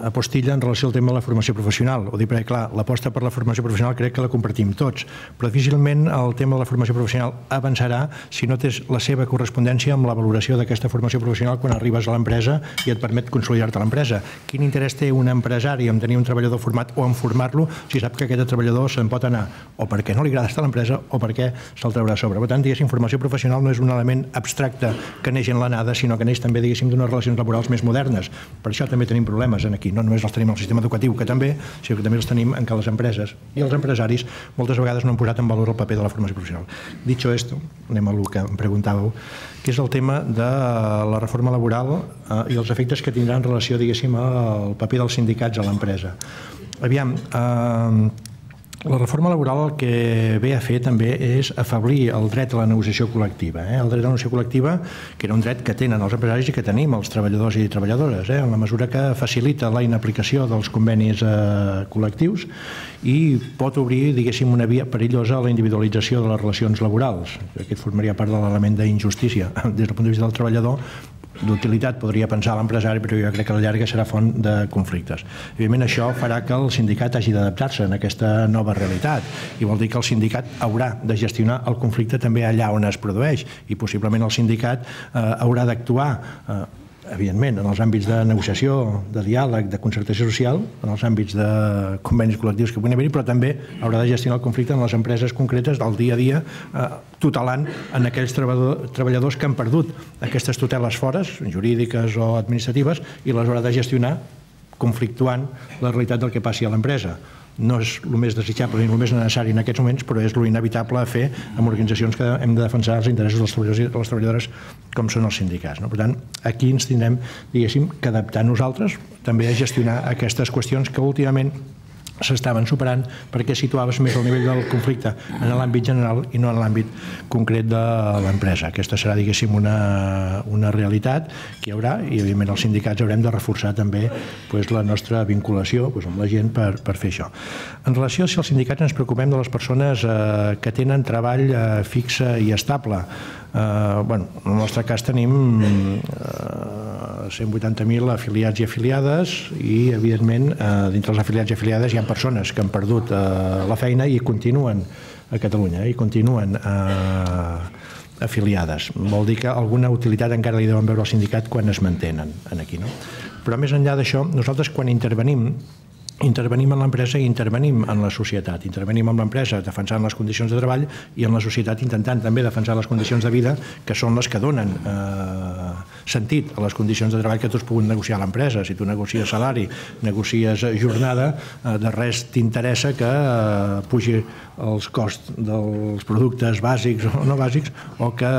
apostilla en relació al tema de la formació professional. Ho dic perquè, clar, l'aposta per la formació professional crec que la compartim tots, però difícilment el tema de la formació professional avançarà si no tens la seva correspondència amb la valoració d'aquesta formació professional quan arribes a l'empresa i et permet consolidar-te a l'empresa. Quin interès té un empresari en tenir un treballador format o en formar-lo si sap que aquest treballador se'n pot anar o perquè no li agrada estar a l'empresa o perquè se'l traurà a sobre? Per tant, diguéssim, formació professional no és un element abstracte que neix en la nada, sinó que neix també, diguéssim, d'unes relacions laborals més modernes. Per això també tenim problemes aquí. No només els tenim al sistema educatiu, que també, sinó que també els tenim en què les empreses i els empresaris moltes vegades no han posat en valor el paper de la formació professional. Dicho esto, anem a el que em preguntàveu, que és el tema de la reforma laboral eh, i els efectes que tindrà en relació, diguéssim, al paper dels sindicats a l'empresa. Aviam, eh, la reforma laboral el que ve a fer també és afeblir el dret a la negociació col·lectiva. Eh? El dret a la negociació col·lectiva, que era un dret que tenen els empresaris i que tenim els treballadors i treballadores, eh? en la mesura que facilita la inaplicació dels convenis eh, col·lectius i pot obrir, diguéssim, una via perillosa a la individualització de les relacions laborals. Aquest formaria part de l'element d'injustícia. Des del punt de vista del treballador, d'utilitat podria pensar l'empresari, però jo crec que a la llarga serà font de conflictes. Evidentment, això farà que el sindicat hagi d'adaptar-se en aquesta nova realitat i vol dir que el sindicat haurà de gestionar el conflicte també allà on es produeix i possiblement el sindicat eh, haurà d'actuar eh, evidentment, en els àmbits de negociació, de diàleg, de concertació social, en els àmbits de convenis col·lectius que puguin haver-hi, però també haurà de gestionar el conflicte en les empreses concretes del dia a dia, eh, tutelant en aquells treballadors que han perdut aquestes tuteles fores, jurídiques o administratives, i les haurà de gestionar conflictuant la realitat del que passi a l'empresa. No és el més desitjable ni el més necessari en aquests moments, però és lo inevitable a fer amb organitzacions que hem de defensar els interessos dels treballadors i les treballadores com són els sindicats. Per tant, aquí ens tindrem, diguéssim, que adaptar nosaltres també a gestionar aquestes qüestions que últimament s'estaven superant perquè situaves més el nivell del conflicte en l'àmbit general i no en l'àmbit concret de l'empresa. Aquesta serà, diguéssim, una, una realitat que hi haurà i, evidentment, els sindicats haurem de reforçar també pues, la nostra vinculació pues, amb la gent per, per fer això. En relació a si els sindicats ens preocupem de les persones eh, que tenen treball eh, fixe i estable, eh, bueno, en el nostre cas tenim eh, cent vuitanta mil afiliats i afiliades i, evidentment, eh, dintre els afiliats i afiliades hi ha persones que han perdut eh, la feina i continuen a Catalunya i continuen eh, afiliades. Vol dir que alguna utilitat encara li deuen veure al sindicat quan es mantenen aquí, no? Però més enllà d'això, nosaltres quan intervenim intervenim en l'empresa i intervenim en la societat. Intervenim en l'empresa defensant les condicions de treball i en la societat intentant també defensar les condicions de vida que són les que donen eh, sentit a les condicions de treball que tu has pogut negociar a l'empresa. Si tu negocies salari, negocies jornada, eh, de res t'interessa que eh, pugi els costs dels productes bàsics o no bàsics o que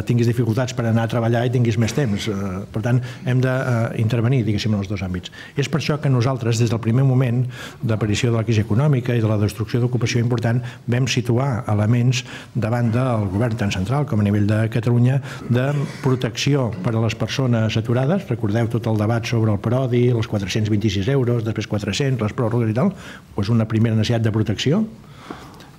tinguis dificultats per anar a treballar i tinguis més temps. Eh, per tant, hem d'intervenir, diguéssim, en els dos àmbits. És per això que nosaltres, des del primer moment d'aparició de la crisi econòmica i de la destrucció d'ocupació important, vam situar elements davant del govern tant central com a nivell de Catalunya de protecció per a les persones aturades. Recordeu tot el debat sobre el Prodi, els quatre-cents vint-i-sis euros, després quatre-cents, les pròrrogues i tal, doncs una primera necessitat de protecció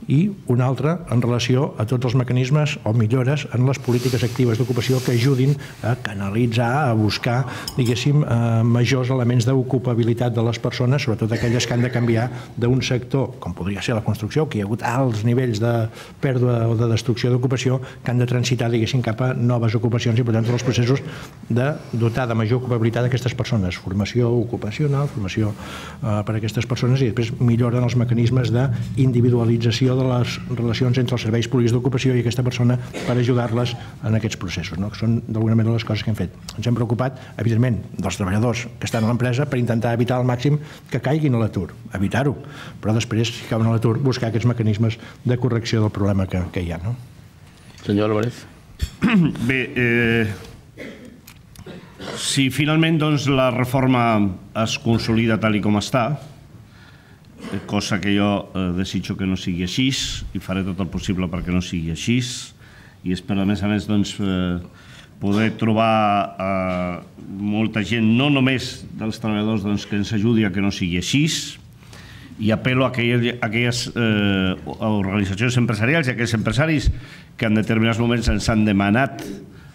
i una altra en relació a tots els mecanismes o millores en les polítiques actives d'ocupació que ajudin a canalitzar, a buscar, diguéssim, majors elements d'ocupabilitat de les persones, sobretot aquelles que han de canviar d'un sector, com podria ser la construcció, que hi ha hagut alts nivells de pèrdua o de destrucció d'ocupació, que han de transitar, diguéssim, cap a noves ocupacions i, per tant, tots els processos de dotar de major ocupabilitat aquestes persones. Formació ocupacional, formació per a aquestes persones i després milloren els mecanismes d'individualització de les relacions entre els serveis públics d'ocupació i aquesta persona per ajudar-les en aquests processos, no? Que són d'alguna manera les coses que hem fet. Ens hem preocupat, evidentment, dels treballadors que estan a l'empresa per intentar evitar al màxim que caiguin a l'atur, evitar-ho, però després, si cauen a l'atur, buscar aquests mecanismes de correcció del problema que, que hi ha, no? Senyor Álvarez. Bé, eh, si finalment doncs, la reforma es consolida tal i com està, cosa que jo eh, desitjo que no sigui així i faré tot el possible perquè no sigui així i espero a més a més doncs, eh, poder trobar eh, molta gent, no només dels treballadors doncs, que ens ajudi a que no sigui així i apel·lo a aquelles, a aquelles eh, organitzacions empresarials i a aquells empresaris que en determinats moments ens han demanat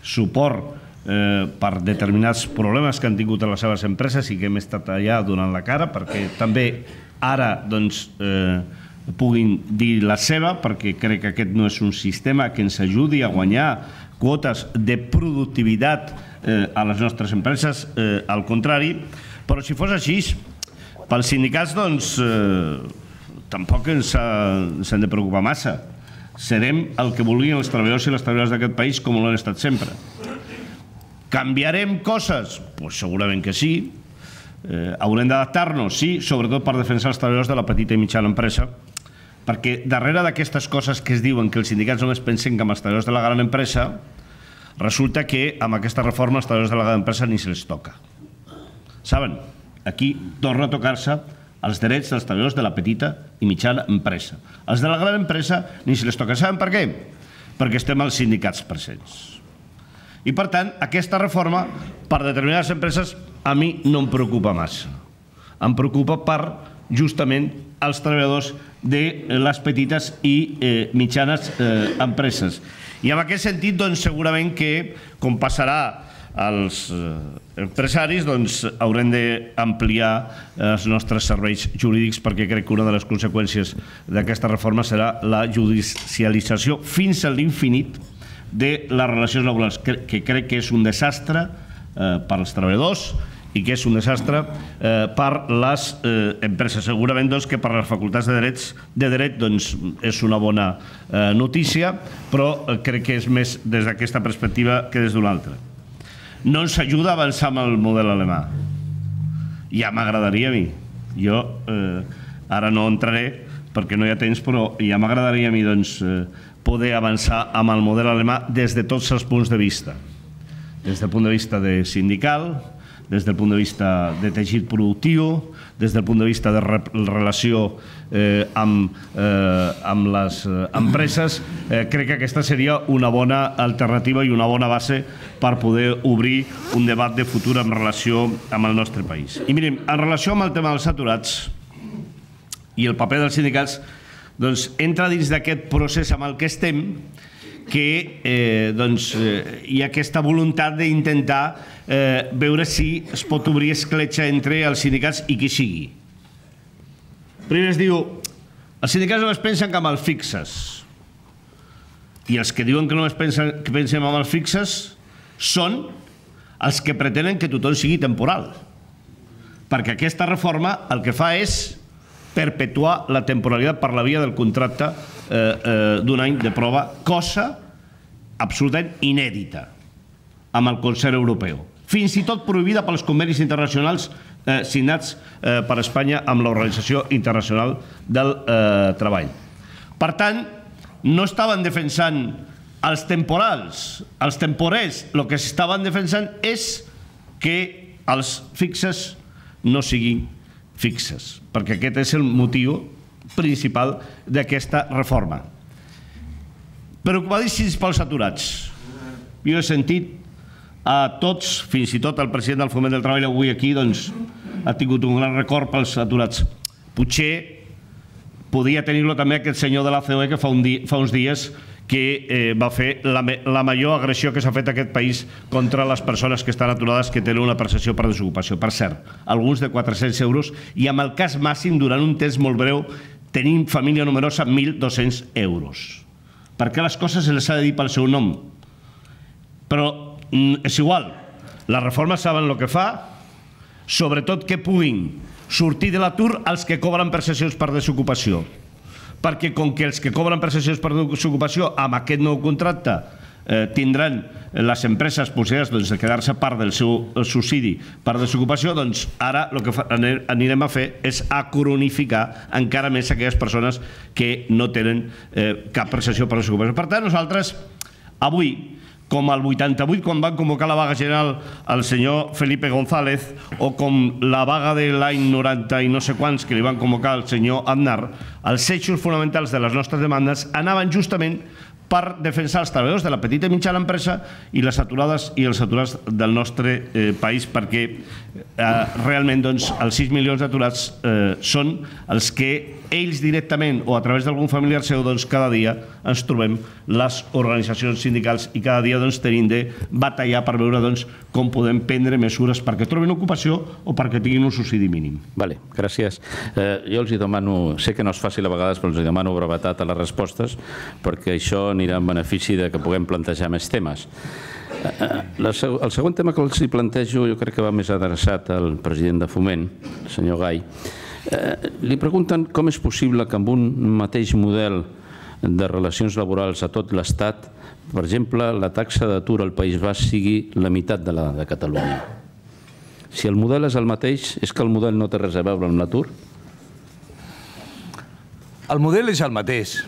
suport eh, per determinats problemes que han tingut a les seves empreses i que hem estat allà donant la cara perquè també ara doncs, eh, puguin dir la seva, perquè crec que aquest no és un sistema que ens ajudi a guanyar quotes de productivitat eh, a les nostres empreses, eh, al contrari, però si fos així, pels sindicats doncs, eh, tampoc ens, ens hem de preocupar massa. Serem el que vulguin els treballadors i les treballadores d'aquest país com ho han estat sempre. Canviarem coses? Pues segurament que sí. Eh, haurem d'adaptar-nos, sí, sobretot per defensar els treballadors de la petita i mitjana empresa, perquè darrere d'aquestes coses que es diuen que els sindicats només pensen que amb els treballadors de la gran empresa, resulta que amb aquesta reforma els treballadors de la gran empresa ni se les toca. Saben? Aquí torna a tocar-se els drets dels treballadors de la petita i mitjana empresa. Els de la gran empresa ni se les toca. Saben per què? Perquè estem als sindicats presents. I, per tant, aquesta reforma, per determinades empreses, a mi no em preocupa massa. Em preocupa per, justament, els treballadors de les petites i eh, mitjanes eh, empreses. I en aquest sentit, doncs, segurament que, com passarà als empresaris, doncs haurem d'ampliar els nostres serveis jurídics, perquè crec que una de les conseqüències d'aquesta reforma serà la judicialització fins a l'infinit de les relacions laborals, que crec que és un desastre per als treballadors i que és un desastre per les empreses. Segurament que per les facultats de dret és una bona notícia, però crec que és més des d'aquesta perspectiva que des d'una altra. No ens ajuda a avançar amb el model alemà. Ja m'agradaria a mi. Jo ara no entraré perquè no hi ha temps, però ja m'agradaria a mi poder avançar amb el model alemà des de tots els punts de vista. Des del punt de vista sindical, des del punt de vista de teixit productiu, des del punt de vista de relació amb les empreses. Crec que aquesta seria una bona alternativa i una bona base per poder obrir un debat de futur en relació amb el nostre país. I miren, en relació amb el tema dels aturats i el paper dels sindicats, doncs entra dins d'aquest procés amb el que estem, que hi ha aquesta voluntat d'intentar veure si es pot obrir escletxa entre els sindicats i qui sigui. Primer es diu, els sindicats només pensen que amb els fixes, i els que diuen que només pensem amb els fixes són els que pretenen que tothom sigui temporal, perquè aquesta reforma el que fa és perpetuar la temporalitat per la via del contracte d'un any de prova, cosa absolutament inèdita amb el Consell Europeu, fins i tot prohibida pels convenis internacionals signats per Espanya amb l'Organització Internacional del Treball. Per tant, no estaven defensant els temporals, els temporers, el que s'estaven defensant és que els fixes no siguin fixes, perquè aquest és el motiu principal d'aquesta reforma. Preocupadíssims pels aturats. Jo he sentit a tots, fins i tot el president del Foment del Treball avui aquí, doncs ha tingut un gran record pels aturats. Potser podia tenir-lo també aquest senyor de la C O E que fa uns dies que va fer la major agressió que s'ha fet a aquest país contra les persones que estan aturades, que tenen una prestació per desocupació. Per cert, alguns de quatre-cents euros, i amb el cas màxim, durant un temps molt breu, tenim família numerosa, mil dos-cents euros. Perquè les coses se les ha de dir pel seu nom. Però és igual, les reformes saben el que fa, sobretot que puguin sortir de l'atur els que cobren prestacions per desocupació. Perquè com que els que cobren prestacions per desocupació amb aquest nou contracte tindran les empreses possibilitats de quedar-se part del seu subsidi per desocupació, doncs ara el que anirem a fer és acronificar encara més aquelles persones que no tenen cap prestació per desocupació. Per tant, nosaltres avui, com el vuitanta-vuit, quan van convocar la vaga general el senyor Felipe González, o com la vaga de l'any noranta i no sé quants que li van convocar el senyor Aznar, els eixos fonamentals de les nostres demandes anaven justament per defensar els treballadors de la petita i mitjana empresa i les aturades i els aturats del nostre país, perquè realment els sis milions d'aturats són els que ells directament o a través d'algun familiar seu cada dia ens trobem les organitzacions sindicals i cada dia tenim de batallar per veure com podem prendre mesures perquè trobin ocupació o perquè tinguin un subsidi mínim. Vale, gràcies. Jo els demano, sé que no és fàcil a vegades, però els demano brevetat a les respostes perquè això anirà en benefici que puguem plantejar més temes. El segon tema que els plantejo jo crec que va més adreçat al president de Foment, el senyor Gai. Li pregunten com és possible que amb un mateix model de relacions laborals a tot l'Estat, per exemple, la taxa d'atur al País Basc sigui la meitat de la de Catalunya. Si el model és el mateix, és que el model no té res a veure amb l'atur? El model és el mateix.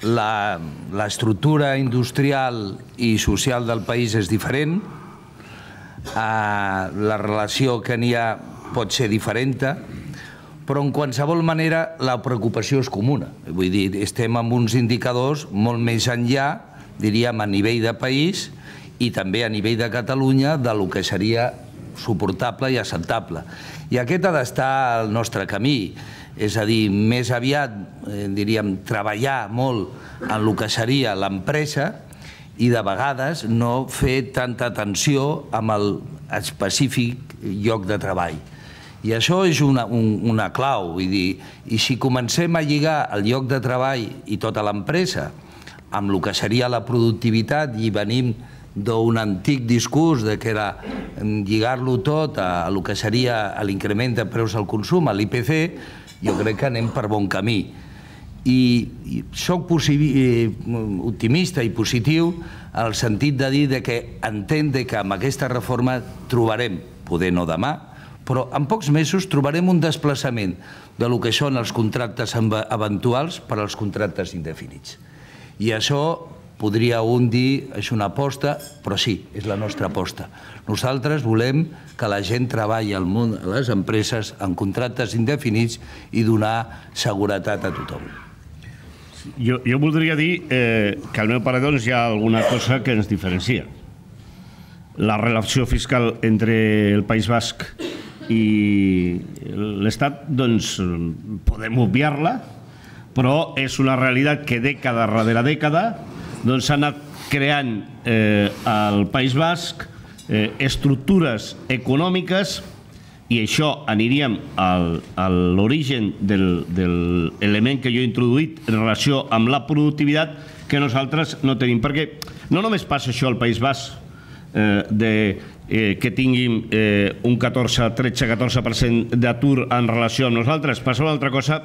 L'estructura industrial i social del país és diferent, la relació que n'hi ha pot ser diferent, però en qualsevol manera la preocupació és comuna. Vull dir, estem amb uns indicadors molt més enllà, diríem, a nivell de país i també a nivell de Catalunya del que seria suportable i acceptable. I aquest ha d'estar al nostre camí. És a dir, més aviat, diríem, treballar molt en el que seria l'empresa i de vegades no fer tanta atenció amb el específic lloc de treball. I això és una, un, una clau, vull dir, i si comencem a lligar el lloc de treball i tota l'empresa amb el que seria la productivitat i venim d'un antic discurs de que era lligar-lo tot a el que seria l'increment de preus al consum, a l'I P C, jo crec que anem per bon camí. I soc optimista i positiu en el sentit de dir que entenc que amb aquesta reforma trobarem, poder no demà, però en pocs mesos trobarem un desplaçament del que són els contractes eventuals per als contractes indefinits. I això podria un dir és una aposta, però sí, és la nostra aposta. Nosaltres volem que la gent treballi al món, a les empreses, en contractes indefinits i donar seguretat a tothom. Jo, jo voldria dir eh, que al meu parer doncs, hi ha alguna cosa que ens diferencia. La relació fiscal entre el País Basc i l'Estat, doncs, podem obviar-la, però és una realitat que dècada darrere dècada doncs, s'ha anat creant eh, al País Basc eh, estructures econòmiques i això aniríem al, a l'origen del, de l'element que jo he introduït en relació amb la productivitat que nosaltres no tenim. Perquè no només passa això al País Basc, eh, de, eh, que tinguin eh, un catorze, tretze, catorze per cent d'atur en relació amb nosaltres, passa una altra cosa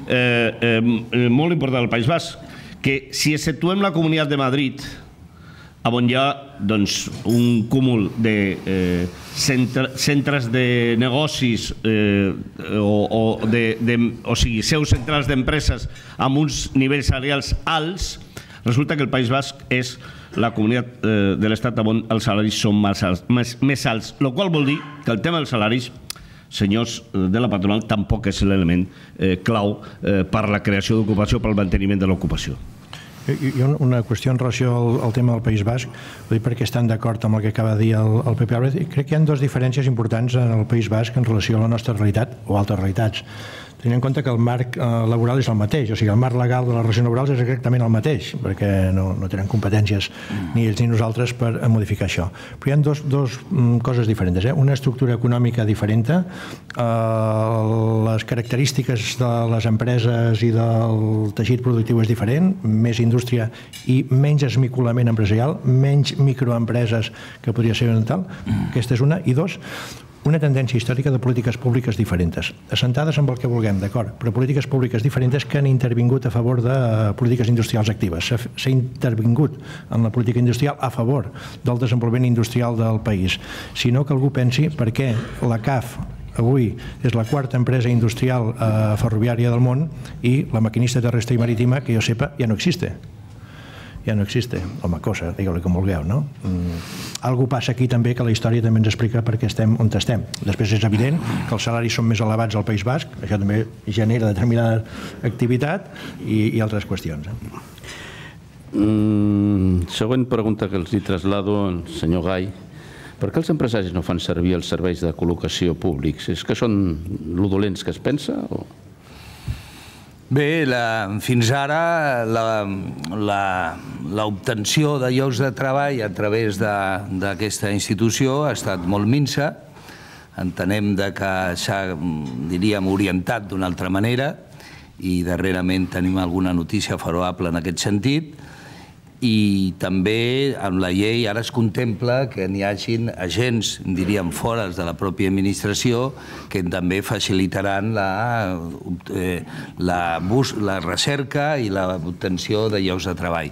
eh, eh, molt important al País Basc, que si exceptuem la Comunitat de Madrid, on hi ha doncs, un cúmul de eh, centre, centres de negocis eh, o, o, de, de, o sigui, seus centrals d'empreses amb uns nivells salarials alts, resulta que el País Basc és la comunitat eh, de l'Estat on els salaris són més alts, més, més alts, el qual vol dir que el tema dels salaris, senyors de la patronal, tampoc és l'element eh, clau eh, per la creació d'ocupació, pel manteniment de l'ocupació. Hi ha una qüestió en relació al, al tema del País Basc, vull dir perquè estan d'acord amb el que acaba de dir el, el P P Álvarez. Crec que hi ha dues diferències importants en el País Basc en relació a la nostra realitat o altres realitats. Tenint en compte que el marc eh, laboral és el mateix, o sigui, el marc legal de les relacions laborals és exactament el mateix, perquè no, no tenen competències ni ells ni nosaltres per modificar això. Però hi ha dos, dos mm, coses diferents. Eh? Una estructura econòmica diferent, eh, les característiques de les empreses i del teixit productiu és diferent, més indústria i menys esmicolament empresarial, menys microempreses que podria ser tal. Aquesta és una. I dos, una tendència històrica de polítiques públiques diferents, assentades amb el que vulguem, d'acord, però polítiques públiques diferents que han intervingut a favor de polítiques industrials actives. S'ha intervingut en la política industrial a favor del desenvolupament industrial del país. Si no, que algú pensi per què la C A F avui és la quarta empresa industrial eh, ferroviària del món i la maquinista terrestre i marítima, que jo sepa, ja no existe. Ja no existe. Home, cosa, digue-li com vulgueu, no? Mm. Algú passa aquí també que la història també ens explica per què estem on estem. Després és evident que els salaris són més elevats al País Basc, això també genera determinada activitat i, i altres qüestions. Eh? Mm, següent pregunta que els hi traslado, senyor Gai. Per què els empresaris no fan servir els serveis de col·locació públics? És que són lo dolents que es pensa? O... Bé, la, fins ara l'obtenció de llocs de treball a través d'aquesta institució ha estat molt minsa. Entenem que s'ha, diríem, orientat d'una altra manera i darrerament tenim alguna notícia favorable en aquest sentit. I també amb la llei ara es contempla que n'hi hagin agents, diríem, fora de la pròpia administració que també facilitaran la, eh, la, bus, la recerca i l'obtenció de llocs de treball.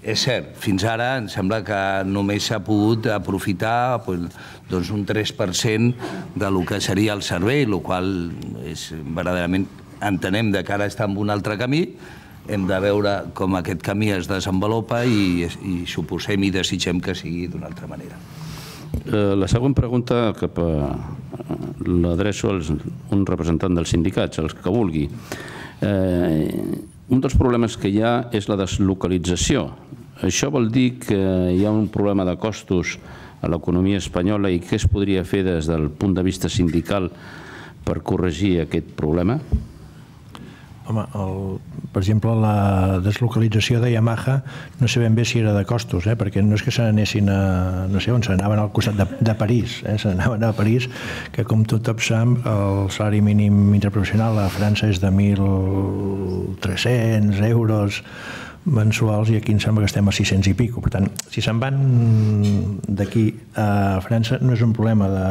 És cert, fins ara em sembla que només s'ha pogut aprofitar doncs, un tres per cent del que seria el servei, el qual és, verdaderament entenem que ara està en un altre camí. Hem de veure com aquest camí es desenvolupa i, i suposem i desitgem que sigui d'una altra manera. La següent pregunta cap a l'adreço a un representant dels sindicats, els que vulgui. Un dels problemes que hi ha és la deslocalització. Això vol dir que hi ha un problema de costos a l'economia espanyola i què es podria fer des del punt de vista sindical per corregir aquest problema? Home, el, per exemple, la deslocalització de Yamaha no sé ben bé si era de costos, eh? Perquè no és que se n'anessin a... no sé on, se n'anaven al costat de, de París, eh? Se n'anaven a París, que com tothom sap, el salari mínim interprofessional a França és de mil tres-cents euros mensuals i aquí em sembla que estem a sis-cents i pico. Per tant, si se'n van d'aquí a França no és un problema de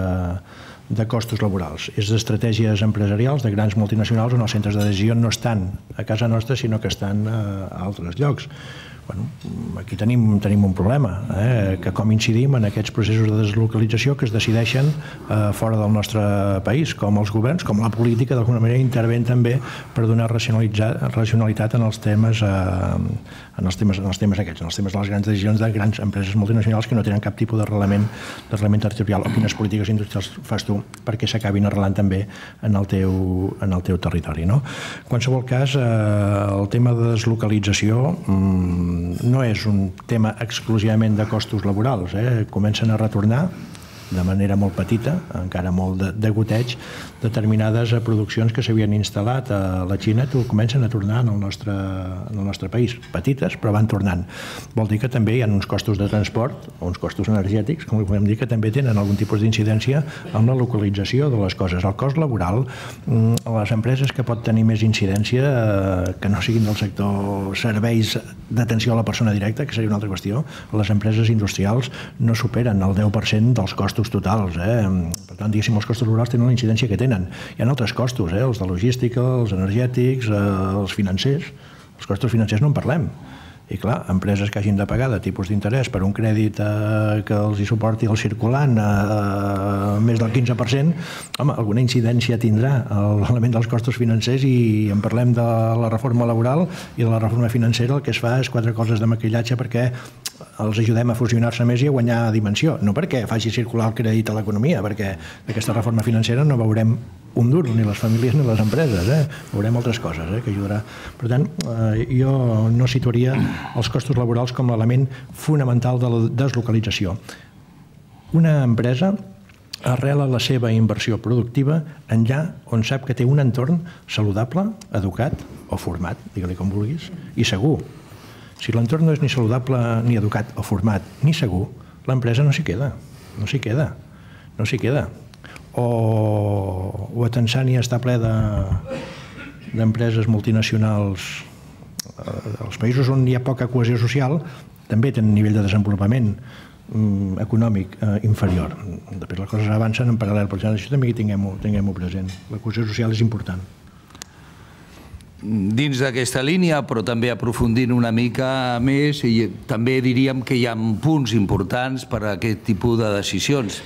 de costos laborals, és d'estratègies empresarials de grans multinacionals on els centres de decisió no estan a casa nostra sinó que estan a altres llocs. Bueno, aquí tenim, tenim un problema, eh? Que com incidim en aquests processos de deslocalització que es decideixen eh, fora del nostre país, com els governs, com la política d'alguna manera interven també per donar racionalitat en els temes eh, en els temes, en els temes aquests, en els temes de les grans decisions de grans empreses multinacionals que no tenen cap tipus d'arrelament d'arrelament territorial o quines polítiques industrials fas tu perquè s'acabin arrelant també en el teu, en el teu territori, no? En qualsevol cas, eh, el tema de deslocalització mmm, no és un tema exclusivament de costos laborals, eh? Comencen a retornar de manera molt petita, encara molt de, de goteig, determinades produccions que s'havien instal·lat a la Xina que comencen a tornar en el, nostre, en el nostre país. Petites, però van tornant. Vol dir que també hi ha uns costos de transport, o uns costos energètics, com podem dir, que també tenen algun tipus d'incidència en la localització de les coses. El cost laboral, les empreses que pot tenir més incidència, que no siguin del sector serveis d'atenció a la persona directa, que seria una altra qüestió, les empreses industrials no superen el deu per cent dels costos totals. Eh? Per tant, diguéssim, els costos laborals tenen la incidència que tenen. Hi ha altres costos, eh? Els de logística, els energètics, eh, els financers. Els costos financers no en parlem. I clar, empreses que hagin de pagar de tipus d'interès per un crèdit eh, que els hi suporti el circulant a eh, més del quinze per cent, home, alguna incidència tindrà l'element dels costos financers i en parlem de la reforma laboral i de la reforma financera. El que es fa és quatre coses de maquillatge perquè els ajudem a fusionar-se més i a guanyar dimensió, no perquè faci circular el crèdit a l'economia, perquè d'aquesta reforma financera no veurem un duro, ni les famílies ni les empreses, eh? Veurem altres coses eh? Que ajudarà. Per tant, eh, jo no situaria els costos laborals com l'element fonamental de la deslocalització. Una empresa arrela la seva inversió productiva enllà on sap que té un entorn saludable, educat o format, digue-li com vulguis, i segur. Si l'entorn no és ni saludable, ni educat, o format, ni segur, l'empresa no s'hi queda, no s'hi queda, no s'hi queda. O, o a Tanzània està ple d'empreses de, multinacionals. Els països on hi ha poca cohesió social també tenen un nivell de desenvolupament mm, econòmic eh, inferior. Després les coses avancen en paral·lel, per tant, això també tinguem-ho tinguem-ho present. La cohesió social és important. Dins d'aquesta línia, però també aprofundint una mica més, i també diríem que hi ha punts importants per a aquest tipus de decisions.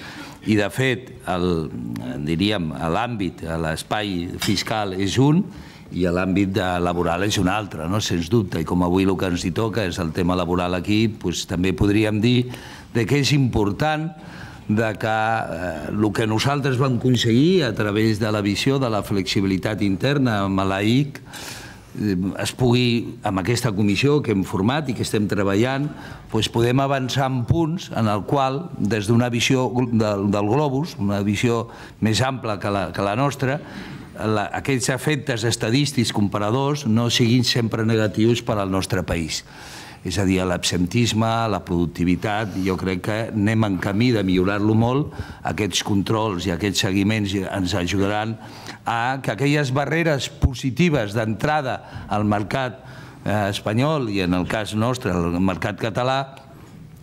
I, de fet, el, diríem, l'àmbit, l'espai fiscal és un i l'àmbit laboral és un altre, no? Sens dubte. I com avui el que ens hi toca és el tema laboral aquí, doncs, també podríem dir que és important de que eh, el que nosaltres vam aconseguir a través de la visió de la flexibilitat interna amb la I C eh, es pugui, amb aquesta comissió que hem format i que estem treballant, doncs podem avançar en punts en el qual, des d'una visió del, del globus, una visió més ampla que la, que la nostra, la, aquests efectes estadístics comparadors no siguin sempre negatius per al nostre país. És a dir, l'absentisme, la productivitat, jo crec que anem en camí de millorar-lo molt. Aquests controls i aquests seguiments ens ajudaran a que aquelles barreres positives d'entrada al mercat espanyol i en el cas nostre, al mercat català,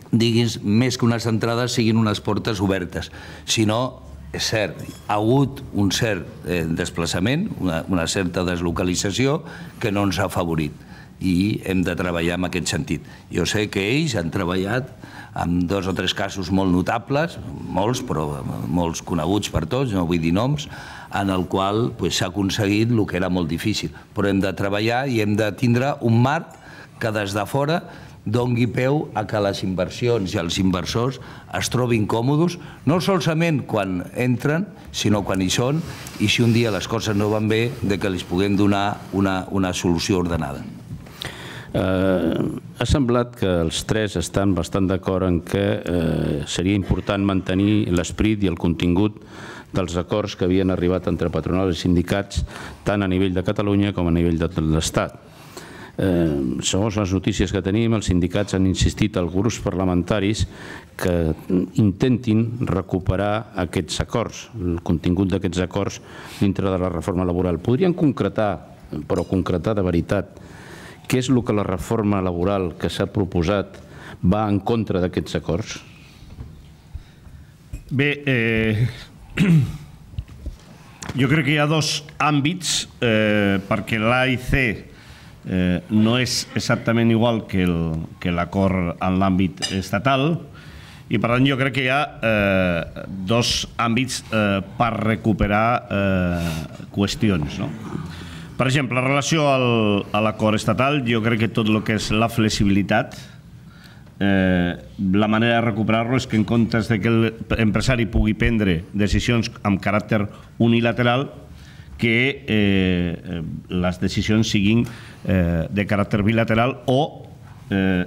diguis, més que unes entrades siguin unes portes obertes. Si no, és cert, ha hagut un cert desplaçament, una certa deslocalització que no ens ha afavorit. I hem de treballar en aquest sentit. Jo sé que ells han treballat amb dos o tres casos molt notables, molts, però molts coneguts per tots, no vull dir noms, en el qual s'ha aconseguit el que era molt difícil. Però hem de treballar i hem de tindre un marc que des de fora doni peu a que les inversions i els inversors es trobin còmodes, no solament quan entren, sinó quan hi són, i si un dia les coses no van bé, que els puguem donar una solució ordenada. Ha semblat que els tres estan bastant d'acord en que seria important mantenir l'esperit i el contingut dels acords que havien arribat entre patronals i sindicats tant a nivell de Catalunya com a nivell de l'Estat. Eh, segons les notícies que tenim, els sindicats han insistit als grups parlamentaris que intentin recuperar aquests acords, el contingut d'aquests acords dintre de la reforma laboral. Podrien concretar, però concretar de veritat, què és el que la reforma laboral que s'ha proposat va en contra d'aquests acords? Bé, eh, jo crec que hi ha dos àmbits, eh, perquè l'A I C Eh, no és exactament igual que l'acord en l'àmbit estatal i per tant jo crec que hi ha eh, dos àmbits eh, per recuperar eh, qüestions. No? Per exemple, en relació al, a l'acord estatal, jo crec que tot el que és la flexibilitat, eh, la manera de recuperar-lo és que en comptes de que l'empresari pugui prendre decisions amb caràcter unilateral, que eh, les decisions siguin eh, de caràcter bilateral o eh,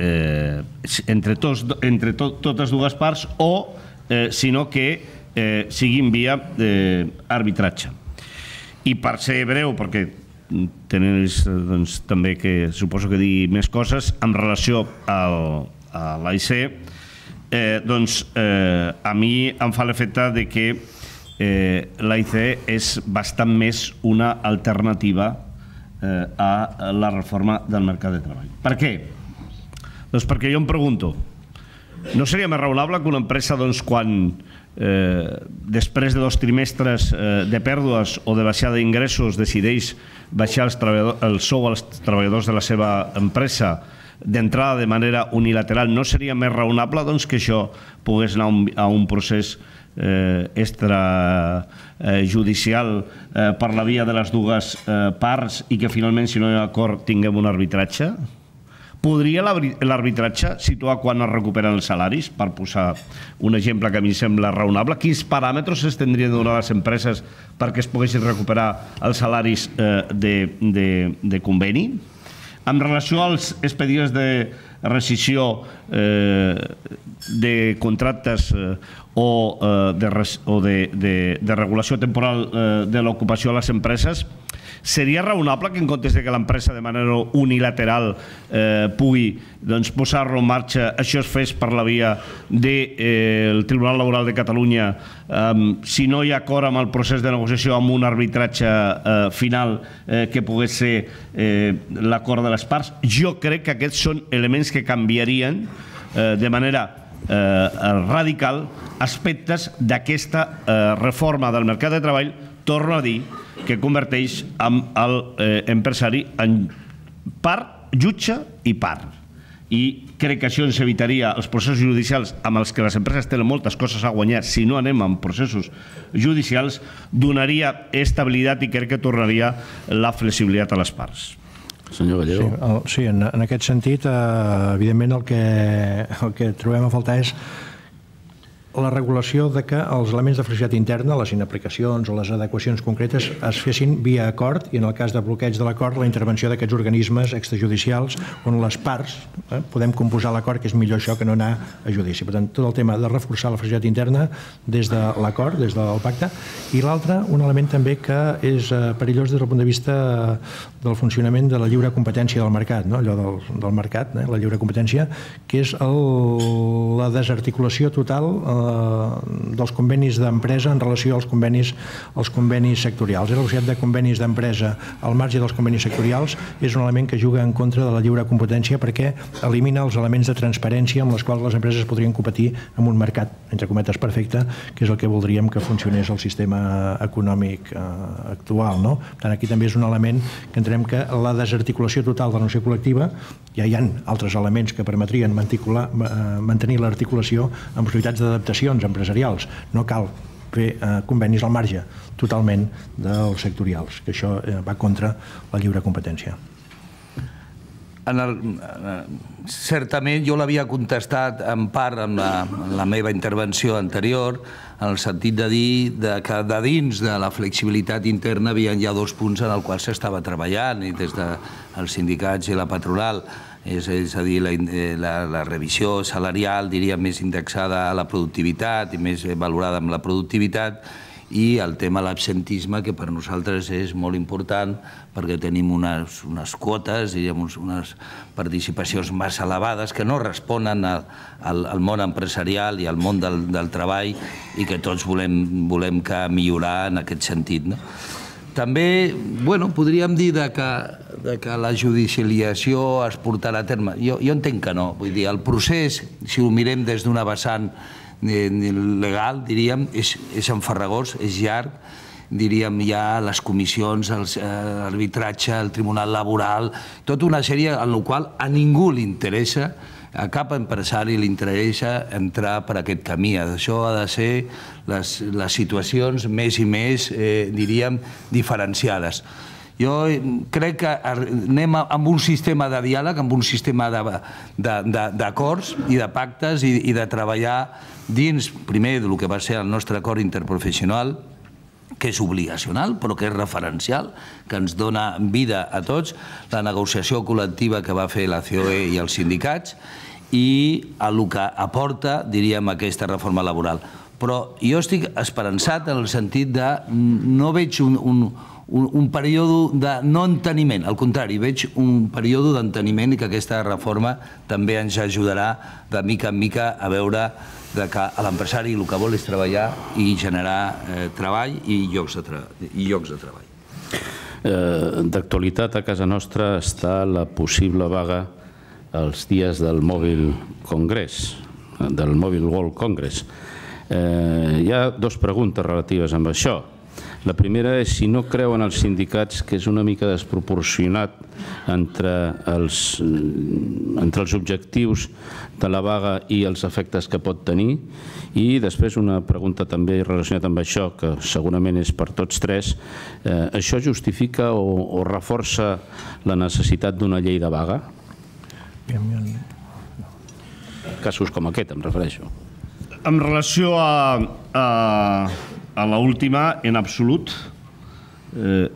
eh, entre, tos, entre to, totes dues parts o, eh, sinó que eh, siguin via eh, arbitratge. I per ser breu, perquè tenéis doncs, també que suposo que dir més coses en relació al, a l'A I C, eh, doncs eh, a mi em fa l'efecte de que Eh, l'A I C és bastant més una alternativa eh, a la reforma del mercat de treball. Per què? Doncs perquè jo em pregunto, no seria més raonable que una empresa, doncs, quan eh, després de dos trimestres eh, de pèrdues o de baixada d'ingressos decideix baixar els el sou als treballadors de la seva empresa d'entrada de manera unilateral, no seria més raonable doncs, que això pogués anar a un, a un procés Eh, extrajudicial eh, per la via de les dues eh, parts i que finalment, si no hi ha acord, tinguem un arbitratge? Podria l'arbitratge situar quan es recuperen els salaris? Per posar un exemple que a mi sembla raonable, quins paràmetres es tindrien de donar a les empreses perquè es poguessin recuperar els salaris eh, de, de, de conveni? En relació als expedients de rescissió eh, de contractes eh, o, eh, de, o de, de, de regulació temporal eh, de l'ocupació a les empreses, seria raonable que en comptes de que l'empresa de manera unilateral eh, pugui doncs, posar-lo en marxa, això es fes per la via del eh, Tribunal Laboral de Catalunya, eh, si no hi ha acord amb el procés de negociació amb un arbitratge eh, final eh, que pogués ser eh, l'acord de les parts? Jo crec que aquests són elements que canviarien eh, de manera eh, radical aspectes d'aquesta eh, reforma del mercat de treball, torno a dir, que converteix amb l'empresari en part jutge i part. I crec que això ens evitaria els processos judicials amb els que les empreses tenen moltes coses a guanyar si no anem amb processos judicials, donaria estabilitat i crec que tornaria la flexibilitat a les parts. Senyor Gallego. Sí, el, sí en, en aquest sentit, eh, evidentment el que, el que trobem a faltar és la regulació de que els elements de flexibilitat interna, les inaplicacions o les adequacions concretes es fessin via acord i en el cas de bloqueig de l'acord la intervenció d'aquests organismes extrajudicials on les parts eh, podem composar l'acord, que és millor això que no anar a judici. Per tant, tot el tema de reforçar la flexibilitat interna des de l'acord, des del pacte, i l'altre, un element també que és eh, perillós des del punt de vista del funcionament de la lliure competència del mercat, no? Allò del, del mercat, eh, la lliure competència, que és el, la desarticulació total eh, dels convenis d'empresa en relació als convenis, als convenis sectorials. La possibilitat de convenis d'empresa al marge dels convenis sectorials és un element que juga en contra de la lliure competència perquè elimina els elements de transparència amb els quals les empreses podrien competir en un mercat, entre cometes, perfecte, que és el que voldríem que funcionés el sistema econòmic eh, actual. No? Per tant, aquí també és un element que entenem que la desarticulació total de la negociació col·lectiva, ja hi ha altres elements que permetrien mantenir l'articulació amb possibilitats d'adaptació empresarials. No cal fer eh, convenis al marge totalment dels sectorials, que això eh, va contra la lliure competència. En el, certament jo l'havia contestat en part en la, en la meva intervenció anterior, en el sentit de dir de que de dins de la flexibilitat interna hi havia ja dos punts en els quals s'estava treballant i des dels sindicats i la patronal és a dir, la revisió salarial, diria, més indexada a la productivitat i més valorada amb la productivitat, i el tema de l'absentisme, que per nosaltres és molt important perquè tenim unes quotes, unes participacions massa elevades que no responen al món empresarial i al món del treball i que tots volem millorar en aquest sentit. També podríem dir que la judicialització es portarà a terme. Jo entenc que no. Vull dir, el procés, si ho mirem des d'una vessant legal, diríem, és enfarragós, és llarg, diríem, hi ha les comissions, l'arbitratge, el tribunal laboral, tota una sèrie en la qual a ningú li interessa, a cap empresari li interessa entrar per aquest camí. Això ha de ser les situacions més i més, diríem, diferenciades. Jo crec que anem amb un sistema de diàleg, amb un sistema d'acords i de pactes i de treballar dins, primer, del que va ser el nostre acord interprofessional, que és obligacional, però que és referencial, que ens dona vida a tots, la negociació col·lectiva que va fer la C O E i els sindicats, i el que aporta, diríem, aquesta reforma laboral. Però jo estic esperançat en el sentit de no veig un un període de no enteniment, al contrari, veig un període d'enteniment i que aquesta reforma també ens ajudarà de mica en mica a veure que l'empresari el que vol és treballar i generar treball i llocs de treball. D'actualitat a casa nostra està la possible vaga els dies del Mobile Congress, del Mobile World Congress. Hi ha dues preguntes relatives amb això. La primera és si no creuen els sindicats que és una mica desproporcionat entre els objectius de la vaga i els efectes que pot tenir. I després una pregunta també relacionada amb això, que segurament és per tots tres. Això justifica o reforça la necessitat d'una llei de vaga? Casos com aquest, em refereixo. En relació a a l'última, en absolut,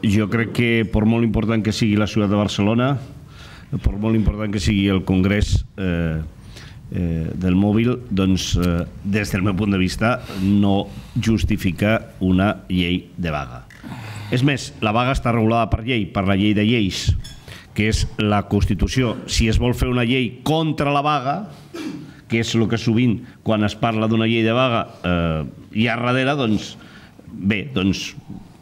jo crec que per molt important que sigui la ciutat de Barcelona, per molt important que sigui el Congrés del mòbil, doncs des del meu punt de vista no justifica una llei de vaga. És més, la vaga està regulada per llei, per la llei de lleis, que és la Constitució. Si es vol fer una llei contra la vaga, que és el que sovint quan es parla d'una llei de vaga hi ha darrere, doncs bé, doncs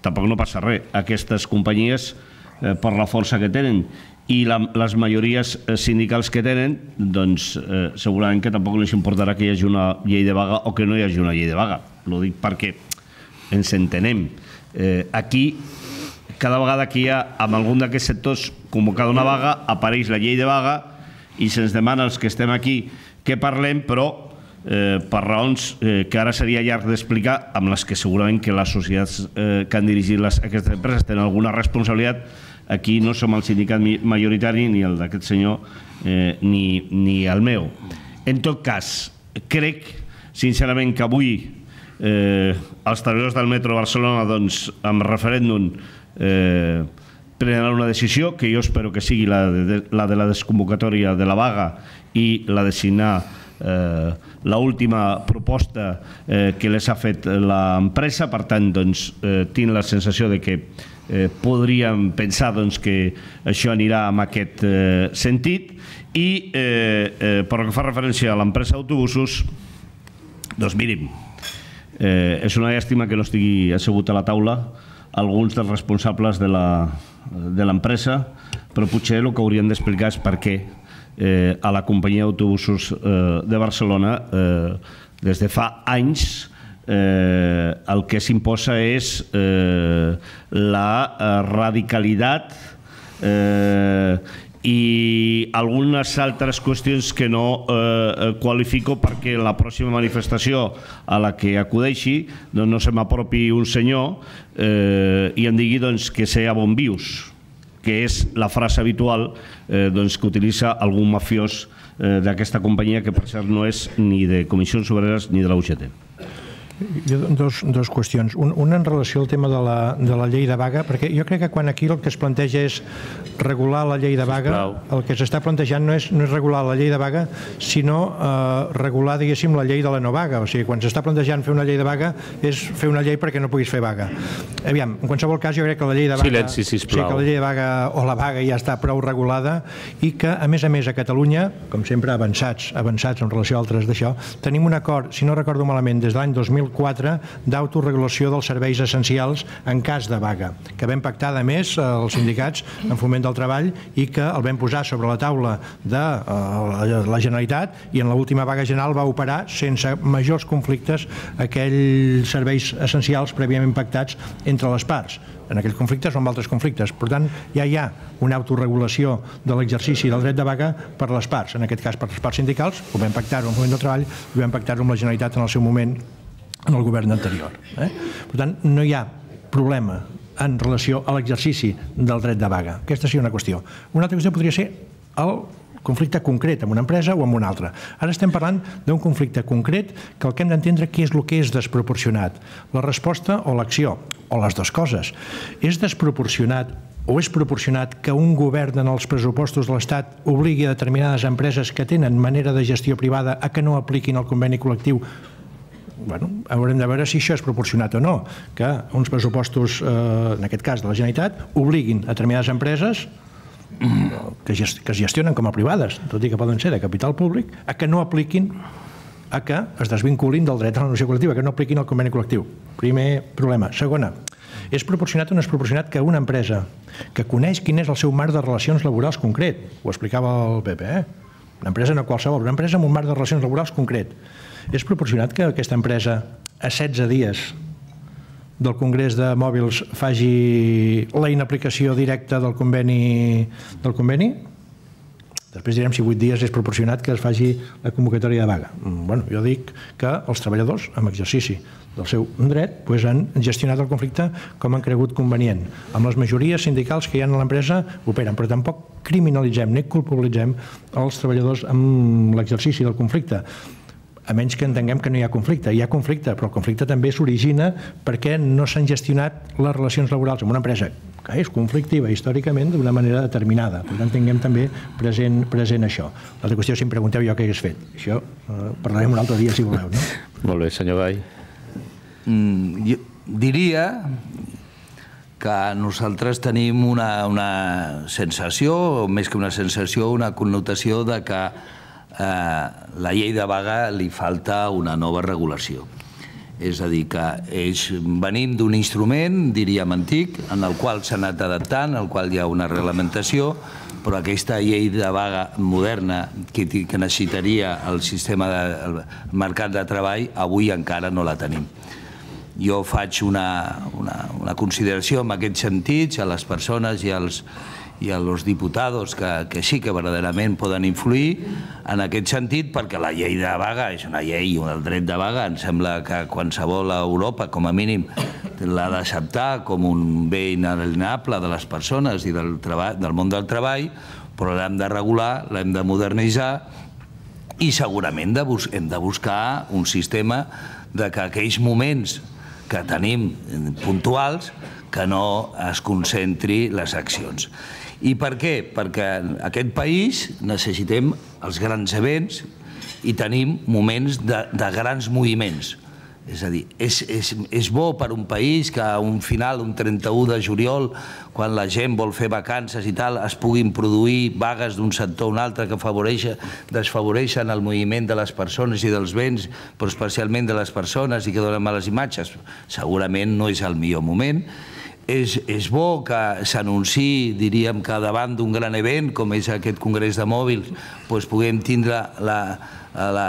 tampoc no passa res. Aquestes companyies, per la força que tenen i les majories sindicals que tenen, doncs segurament que tampoc els importarà que hi hagi una llei de vaga o que no hi hagi una llei de vaga. Ho dic perquè ens entenem. Aquí, cada vegada que hi ha en algun d'aquests sectors convocada una vaga, apareix la llei de vaga i se'ns demana als que estem aquí que parlem, però per raons que ara seria llarg d'explicar, amb les que segurament que les societats que han dirigit aquestes empreses tenen alguna responsabilitat. Aquí no som el sindicat majoritari, ni el d'aquest senyor, ni el meu. En tot cas, crec sincerament que avui els treballadors del metro de Barcelona, amb referèndum, prendran una decisió que jo espero que sigui la de la desconvocatòria de la vaga i la de signar l'última proposta que les ha fet l'empresa. Per tant, tinc la sensació que podríem pensar que això anirà en aquest sentit. I pel que fa referència a l'empresa d'autobusos, doncs mirin, és una llàstima que no estigui assegut a la taula alguns dels responsables de l'empresa, però potser el que haurien d'explicar és per què a la companyia d'autobusos de Barcelona des de fa anys el que s'imposa és la radicalitat i algunes altres qüestions que no qualifico perquè en la pròxima manifestació a la que acudeixi no se m'apropi un senyor i em digui que sé a bon vius, que és la frase habitual que utilitza algun mafiós d'aquesta companyia, que per cert no és ni de Comissions Obreres ni de la U G T. Dos qüestions. Una en relació al tema de la llei de vaga, perquè jo crec que quan aquí el que es planteja és regular la llei de vaga, el que s'està plantejant no és regular la llei de vaga, sinó regular, diguéssim, la llei de la no vaga. O sigui, quan s'està plantejant fer una llei de vaga és fer una llei perquè no puguis fer vaga. Aviam, en qualsevol cas, jo crec que la llei de vaga... Silenci, sisplau. Que la llei de vaga o la vaga ja està prou regulada i que, a més a més, a Catalunya, com sempre, avançats, avançats en relació a altres d'això, tenim un acord, si no recordo malament, des de l'any dos mil quatre d'autoregulació dels serveis essencials en cas de vaga, que vam pactar, a més, els sindicats en Foment del Treball i que el vam posar sobre la taula de la Generalitat i en l'última vaga general va operar sense majors conflictes aquells serveis essencials prèviament pactats entre les parts, en aquells conflictes o en altres conflictes. Per tant, ja hi ha una autoregulació de l'exercici del dret de vaga per les parts, en aquest cas per les parts sindicals, ho vam pactar-ho en Foment del Treball i ho vam pactar-ho amb la Generalitat en el seu moment en el govern anterior. Per tant, no hi ha problema en relació a l'exercici del dret de vaga. Aquesta seria una qüestió. Una altra qüestió podria ser el conflicte concret amb una empresa o amb una altra. Ara estem parlant d'un conflicte concret que el que hem d'entendre què és el que és desproporcionat. La resposta o l'acció, o les dues coses. És desproporcionat o és proporcionat que un govern en els pressupostos de l'Estat obligui a determinades empreses que tenen manera de gestió privada a que no apliquin el conveni col·lectiu? Bueno, haurem de veure si això és proporcionat o no, que uns pressupostos, en aquest cas de la Generalitat, obliguin a determinades empreses que es gestionen com a privades, tot i que poden ser de capital públic, a que no apliquin, a que es desvinculin del dret a la negociació col·lectiva, que no apliquin el conveni col·lectiu. Primer problema. Segona, és proporcionat o no és proporcionat que una empresa que coneix quin és el seu marc de relacions laborals concret, ho explicava el Pepe, eh? Una empresa no qualsevol, una empresa amb un marc de relacions laborals concret, és proporcionat que aquesta empresa a setze dies del Congrés de Mòbils faci la inaplicació directa del conveni del conveni? Després direm si vuit dies és proporcionat que es faci la convocatòria de vaga. Bueno, jo dic que els treballadors, amb exercici del seu dret, han gestionat el conflicte com han cregut convenient. Amb les majories sindicals que hi ha a l'empresa operen, però tampoc criminalitzem ni culpabilitzem els treballadors amb l'exercici del conflicte, a menys que entenguem que no hi ha conflicte. Hi ha conflicte, però el conflicte també s'origina perquè no s'han gestionat les relacions laborals amb una empresa que és conflictiva històricament d'una manera determinada. Per tant, tinguem també present, present això. L'altra qüestió, si em pregunteu jo què hagués fet. Això eh, parlarem un altre dia, si voleu. No? Molt bé, senyor Gai. Mm, jo diria que nosaltres tenim una, una sensació, o més que una sensació, una connotació de que eh, la llei de vaga li falta una nova regulació. És a dir, que és, venim d'un instrument, diríem antic, en el qual s'ha anat adaptant, en el qual hi ha una reglamentació, però aquesta llei de vaga moderna que, que necessitaria el sistema de, el mercat de treball, avui encara no la tenim. Jo faig una, una, una consideració en aquest sentit a les persones i als, i als diputats que, que sí que verdaderament poden influir en aquest sentit, perquè la llei de vaga és una llei, el dret de vaga, em sembla que qualsevol a Europa, com a mínim, l'ha d'acceptar com un bé inalienable de les persones i del, treball, del món del treball, però l'hem de regular, l'hem de modernitzar i segurament de bus hem de buscar un sistema de que aquells moments que tenim puntuals que no es concentri les accions. I per què? Perquè en aquest país necessitem els grans events i tenim moments de, de grans moviments. És a dir, és, és, és bo per un país que a un final, un trenta-u de juliol, quan la gent vol fer vacances i tal, es puguin produir vagues d'un sector a un altre que desfavoreixen el moviment de les persones i dels béns, però especialment de les persones i que donen males imatges. Segurament no és el millor moment. És, és bo que s'anunciï, diríem, que davant d'un gran event, com és aquest Congrés de Mòbils, doncs puguem tindre la, la,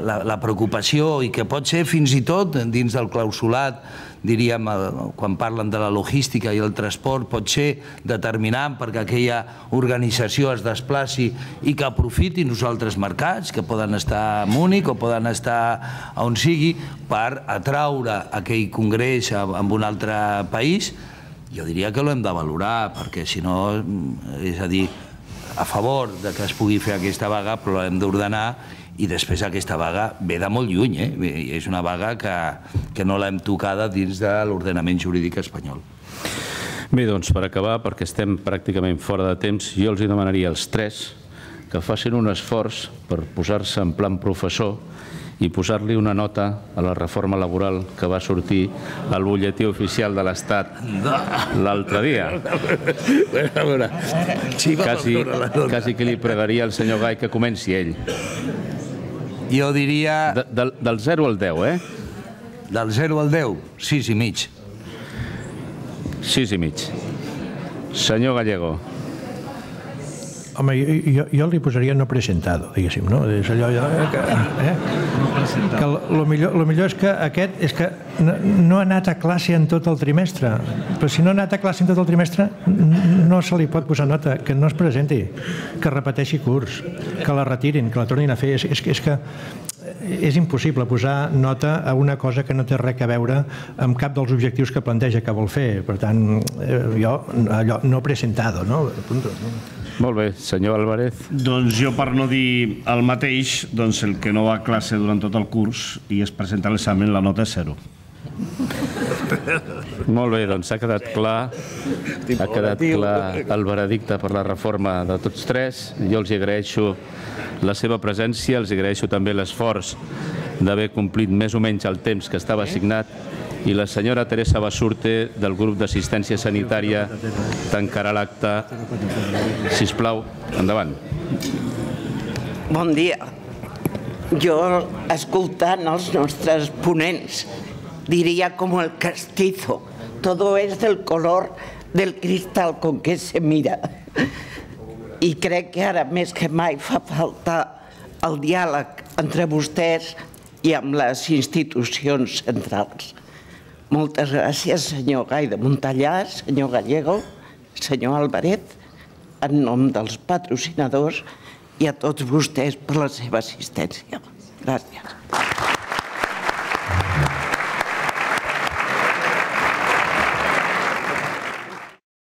la, la preocupació i que pot ser fins i tot dins del clausulat, diríem, quan parlen de la logística i el transport, pot ser determinant perquè aquella organització es desplaci i que aprofiti els altres mercats, que poden estar a Múnich o poden estar on sigui, per atraure aquell congrés en un altre país. Jo diria que l'hem de valorar, perquè si no, és a dir, a favor de que es pugui fer aquesta vaga, però l'hem d'ordenar i després aquesta vaga ve de molt lluny, eh? És una vaga que, que no l'hem tocada dins de l'ordenament jurídic espanyol. Bé, doncs, per acabar, perquè estem pràcticament fora de temps, jo els demanaria als tres que facin un esforç per posar-se en plan professor i posar-li una nota a la reforma laboral que va sortir al butlletí oficial de l'Estat l'altre dia. A veure, quasi, quasi que li pregaria al senyor Gai que comenci ell. Jo diria... De, del, del zero al deu, eh? Del zero al deu, sis i mig. sis i mig. Senyor Gallego. Home, jo, jo, jo li posaria no presentado, diguéssim, no? És allò, que, eh? que lo millor, lo millor és que aquest és que no, no ha anat a classe en tot el trimestre, però si no ha anat a classe en tot el trimestre no se li pot posar nota, que no es presenti, que repeteixi curs, que la retirin, que la tornin a fer. És, és, és que és impossible posar nota a una cosa que no té res a veure amb cap dels objectius que planteja que vol fer. Per tant, jo, allò, no presentado, no? Punto. Molt bé, senyor Álvarez. Doncs jo, per no dir el mateix, doncs el que no va a classe durant tot el curs i es presenta a l'examen, la nota és zero. Molt bé, doncs ha quedat clar, ha quedat clar el veredicte per la reforma de tots tres. Jo els agraeixo la seva presència, els agraeixo també l'esforç d'haver complit més o menys el temps que estava assignat, i la senyora Teresa Basurte, del grup d'assistència sanitària, tancarà l'acte. Sisplau, endavant. Bon dia. Jo, escoltant els nostres ponents, diria com el castizo. Todo es del color del cristal con que se mira. I crec que ara més que mai fa falta el diàleg entre vostès i amb les institucions centrals. Moltes gràcies, senyor Gai de Montellà, senyor Gallego, senyor Álvarez, en nom dels patrocinadors i a tots vostès per la seva assistència. Gràcies.